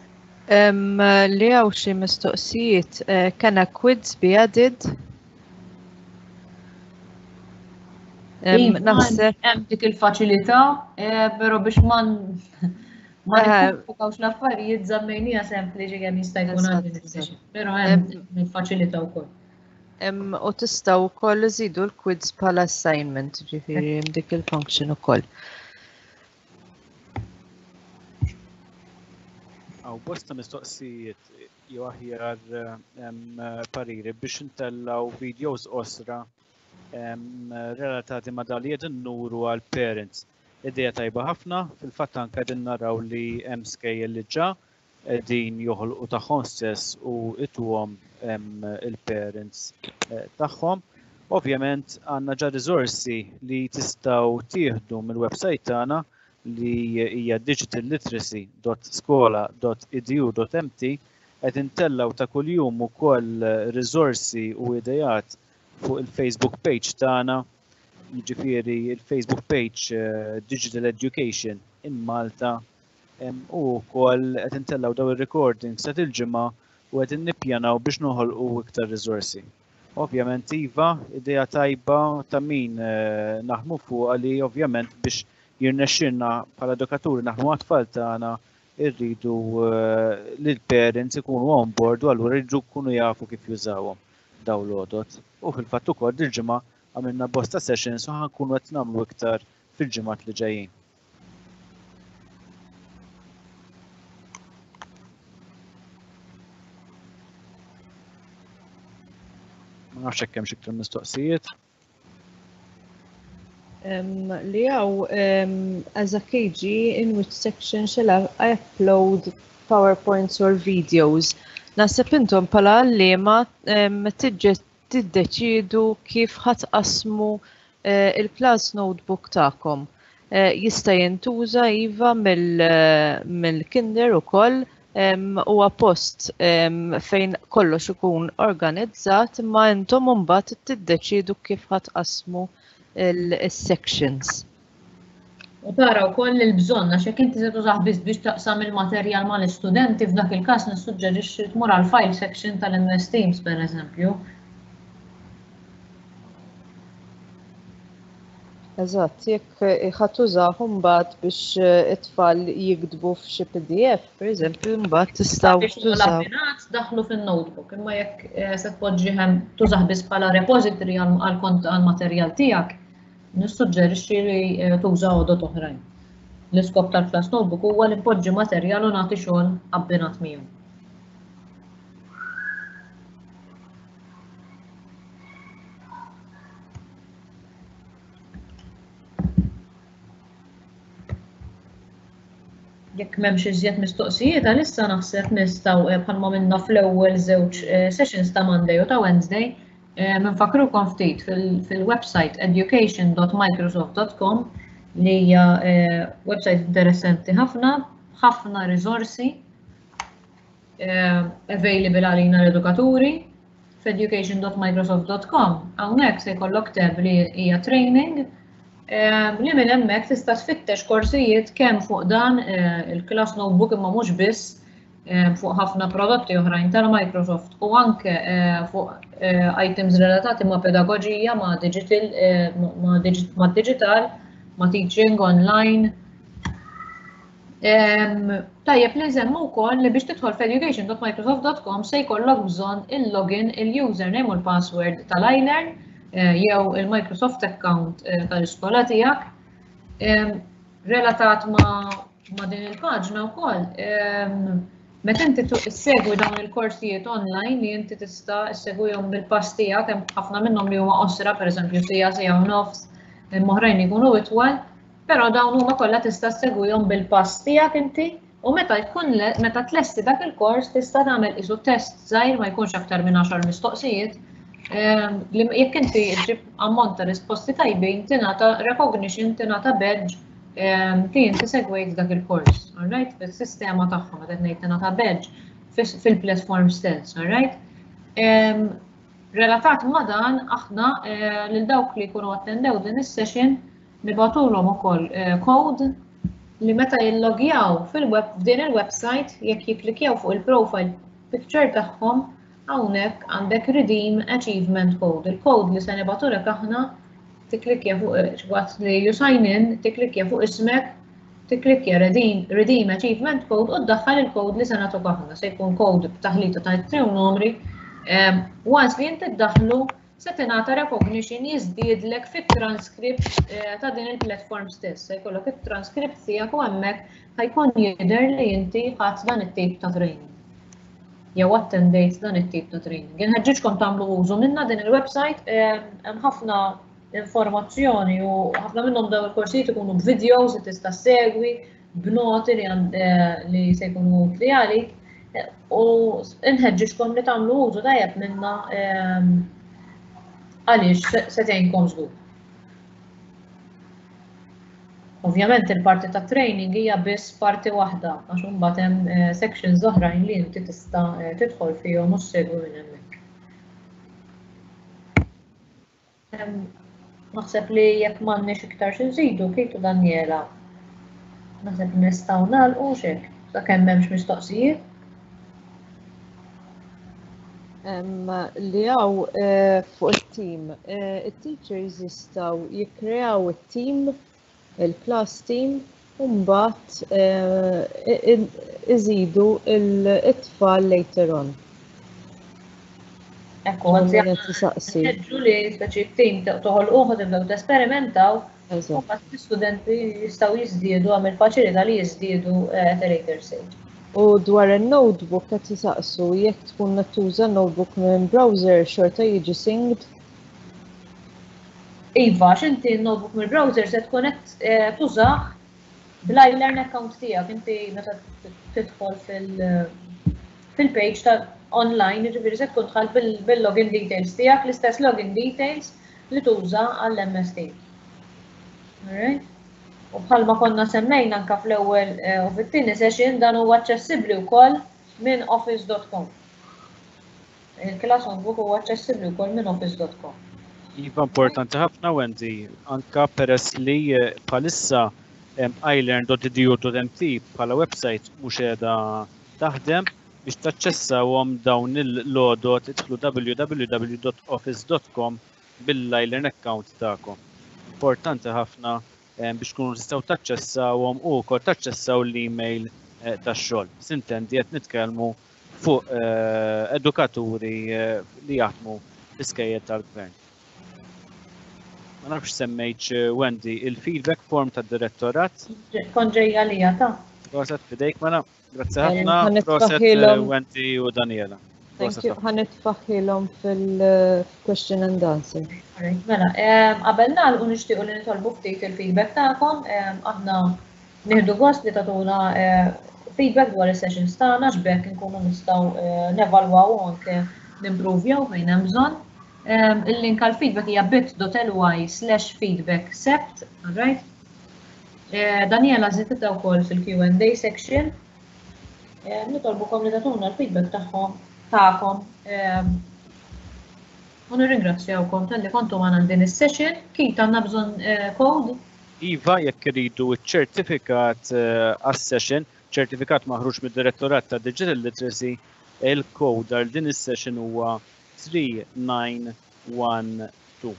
Li hawn xi mistoqsijiet, can a quiz be added? Naħseb hemm dik il-faċilità, però biex ma ma nikkumplikawx l-affarijiet żammejniha sempliċi kemm jista' jkun għal din is-session, però hemm il-faċilità wkoll. U tistgħu wkoll iżidu l-quiz bħala assignment, ġifieri hemm dik il-function ukoll. Hawn bosta mistoqsijiet jew aħjar pariri biex intellaw videos qosra relatati ma' dan li qegħdin nuru għal parents. Idea tajba ħafna, fil-fatt anke qegħdin naraw li hemm skejjel li ġa qegħdin joħolqu tagħhom stess u ituhom il-parents tagħhom. Ovvjament għandna ġa riżorsi li tistgħu tieħdu mill-website tagħna li hija digital literacy dot skola dot edu dot m t, qed intellaw ta' kuljum ukoll riżorsi u idejat fuq il-Facebook page tagħna, jiġifieri il-Facebook page Digital Education in Malta, u wkoll qed intellaw daw ir-recordings ta' il-ġimgħa u qed nippjanaw biex noħolqu iktar riżorsi. Ovvjament iva, idea tajba ta' min naħdmu fuqha li ovvjament biex jirnexxilna bħala edukaturi naħdmu għat-tfal tagħna irridu li l-parents ikunu on board u allura jridu jkunu jafu kif jużawhom daw l-għodot. U fil-fatt ukoll dil-ġimgħa għamilna bosta sessions u ħankunu qed nagħmlu iktar fil-ġimgħat li ġejjin. Ma nafx hekk hemm xi iktar mistoqsijiet. Li hawn, as a K G, in which section shall I upload PowerPoints or videos? Naħseb intom bħala għalliema tiddeċidu kif ħatqasmu il-class notebook tagħkom. Jista' jintuża iva mill-kinder ukoll, huwa post fejn kollox ikun organizzat, imma intom imbagħad tiddeċidu kif ħatqasmu il-sections. U tara wkoll il-bżonn, għax jekk inti se tużah biss biex taqsam il-materjal mal-istudenti, f'dak il-każ nissuġġerixxi tmur għal file section tal-M S Teams pereżempju. Eżatt, jekk ħadd tużah mbagħad biex it-tfal jiktbu f'xi P D F, pereżempju, mbagħad tistgħu Biex tużaw. L-abbinat daħlu fin-notebook, imma jekk se tpoġġi hemm tużah biss bħala repository għall-materjal tiegħek, nissuġġerixxi li tuża għodot oħrajn. L-iskop tal-class notebook huwa li npoġġi materjal u nagħti xogħol abbinat miegħu. Jekk m'hemmx iżjed mistoqsijiet, għalissa naħseb nistgħu bħalma minna fl-ewwel żewġ sessions ta' Monday u ta' Wednesday, minfakrukom ftit fil-website education dot microsoft dot com li hija website interessanti ħafna, ħafna riżorsi available għalina l-edukaturi. F'education dot microsoft dot com hawnhekk se jkollok tab li hija training, li minn hemmhekk tista' tfittex korsijiet kemm fuq dan il-class notebook imma mhux biss, fuq ħafna prodotti oħrajn tal-Microsoft u anke fuq items relatati ma' pedagoġija, ma' digital, ma' digital, ma' teaching online. Tajjeb li nsemmu wkoll li biex tidħol f'education dot microsoft dot com se jkollok bżonn il-login, il-username u l-password tal-iLearn jew il-Microsoft account tal-iskola tiegħek. Relatat ma' din il-paġna wkoll, meta inti ssegwi dawn il-korsijiet online li inti tista' ssegwihom bil-pass tiegħek, hemm ħafna minnhom li huma qosra, pereżempju siegħa, siegħa u nofs, hemm oħrajn jkunu itwal, però dawn huma kollha tista' ssegwihom bil-pass tiegħek inti, u meta jkun meta tlesti dak il-kors tista' tagħmel qisu test żgħir, ma jkunx aktar minn għaxar mistoqsijiet, li jekk inti ġġib ammont ta' risposti tajbin tingħata recognition, tingħata badge li inti segwejt dak il-kors, alright? Fis-sistema tagħhom qed ngħid tingħata badge fil-platform stess, alright? Relatat ma' dan, aħna lil dawk li jkunu attendew din is-session nibagħtulhom ukoll code li meta jillogjaw fil-web f'din il-website, jekk jikklikjaw fuq il-profile picture tagħhom, hawnhekk għandek redeem achievement code. Il-code li se nibagħtulek aħna, tikklikja fuq waqt li you sign in, tikklikja fuq ismek, tikklikja redeem, redeem achievement code u ddaħħal il-code li se nagħtuk aħna. Se jkun code b'taħlita ta' ittri u numri. Once li inti ddaħlu, se tingħata recognition, jiżdiedlek fit-transcript ta' din il-platform stess. Se jkollok it-transcript tiegħek u hemmhekk ħa jkun jidher li inti ħadt dan it-tip ta' training jew attendejt dan it-tip ta' training. Inħeġġiġkom tagħmlu użu minna din il-website, hemm ħafna informazzjoni u ħafna minnhom dawn il-korsijiet ikunu b'videos li tista' segwi, b'noti li, li se jkunu utli għalik, u nħeġġiġkom li tagħmlu użu tajjeb minna għaliex se tgħinkom żgur. Ovvjament il-parti ta' training hija biss parti waħda, għax imbagħad hemm sections oħrajn li inti tista' tidħol fihom u ssegwi minn hemmhekk. Naħseb li jekk m'għandniex iktar xi nżidu, Kate u Daniela, naħseb li nistgħu nagħlqu x'hekk, sakemm m'hemmx mistoqsijiet. Li hawn fuq il-team, il-teachers jistgħu jikkreaw it-team, il-class team, u mbagħad iżidu it-tfal later on. Ekku, għanzi li speċi team toħolquh, tibdew tesperimentaw, u mbagħad l-istudenti jistgħu jiżdiedu, għamil faċilità li jiżdiedu at a later stage. U dwar il-notebook qed jisaqsu jekk tkun qed tuża notebook minn browser, xorta jiġi synced? Iva, x'inti n-notebook mill-browser se tkun qed tużah bl-iLearn account tiegħek, inti meta tidħol fil-page ta' online, jiġifieri se tkun dħalt bil-login details tiegħek, l-istess login details li tuża għall-M S Teams. Alright? U bħalma konna semmejna anka fl-ewwel u fit-tieni session, dan huwa aċċessibbli wkoll minn office dot com. Il-class notebook huwa aċċessibbli wkoll minn office dot com. Iva, importanti ħafna, Wendy, anka peress li bħalissa ilearn dot edu dot M T bħala website mhux qiegħda taħdem, biex taċċessawhom dawn il-lodot idħlu W W W dot office dot com bil-iLearn account tagħkom. Importanti ħafna biex tkunu tistgħu taċċessawhom u wkoll taċċessaw l-email tax-xogħol. Sintendi qed nitkellmu fuq edukaturi li jaħdmu fl-iskejjel tal-gvern. Ma nafx semmejtx, Wendy, il-feedback form tad-direttorat. Kont ġejja lija ta'. Proset, fidejk mela. Grazzi ħafna. Proset, Wendy u Daniela. Thank you. Ħa nitfagħhielhom fil-question and answer. Mela, qabel nagħlqu nixtiequ li nitolbu ftit il-feedback tagħkom. Aħna nieħdu gost li tagħtuna feedback dwar is-sessions tagħna x'bekk inkunu nistgħu nevalwaw u anke nimprovjaw fejn hemm bżonn. Il-link għal feedback hija bit dot L Y slash feedback sept, alright? Daniela żiditha wkoll fil-Q and A section. Nitolbukom li tagħtuna l-feedback tagħhom tagħkom. U nirringrazzjawkom talli kontu magħna din is-session. Kit, għandna bżonn code? Iva, jekk iridu ċ-ċertifikat għas-session, Ċertifikat maħruġ mid-Direttorat ta' Digital Literacy, il-code għal din is-session huwa three nine one two.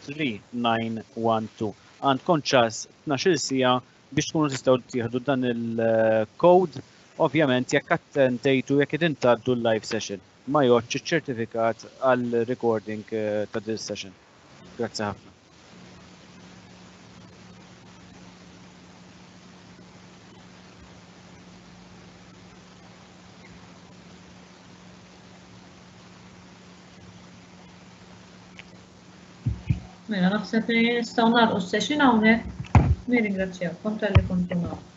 three nine one two. Għandkom ċans tnax-il siegħa biex tkunu tistgħu tieħdu dan il-code, ovvjament jekk attendejtu, jekk qegħdin tgħaddu l-live session. Ma jgħoddx iċ-ċertifikat għal recording eh, ta' din session. Grazzi ħafna. Mela, naħseb li nistgħu nagħlqu s-session hawnhekk. Nirringrazzjakom talli kontu magħna.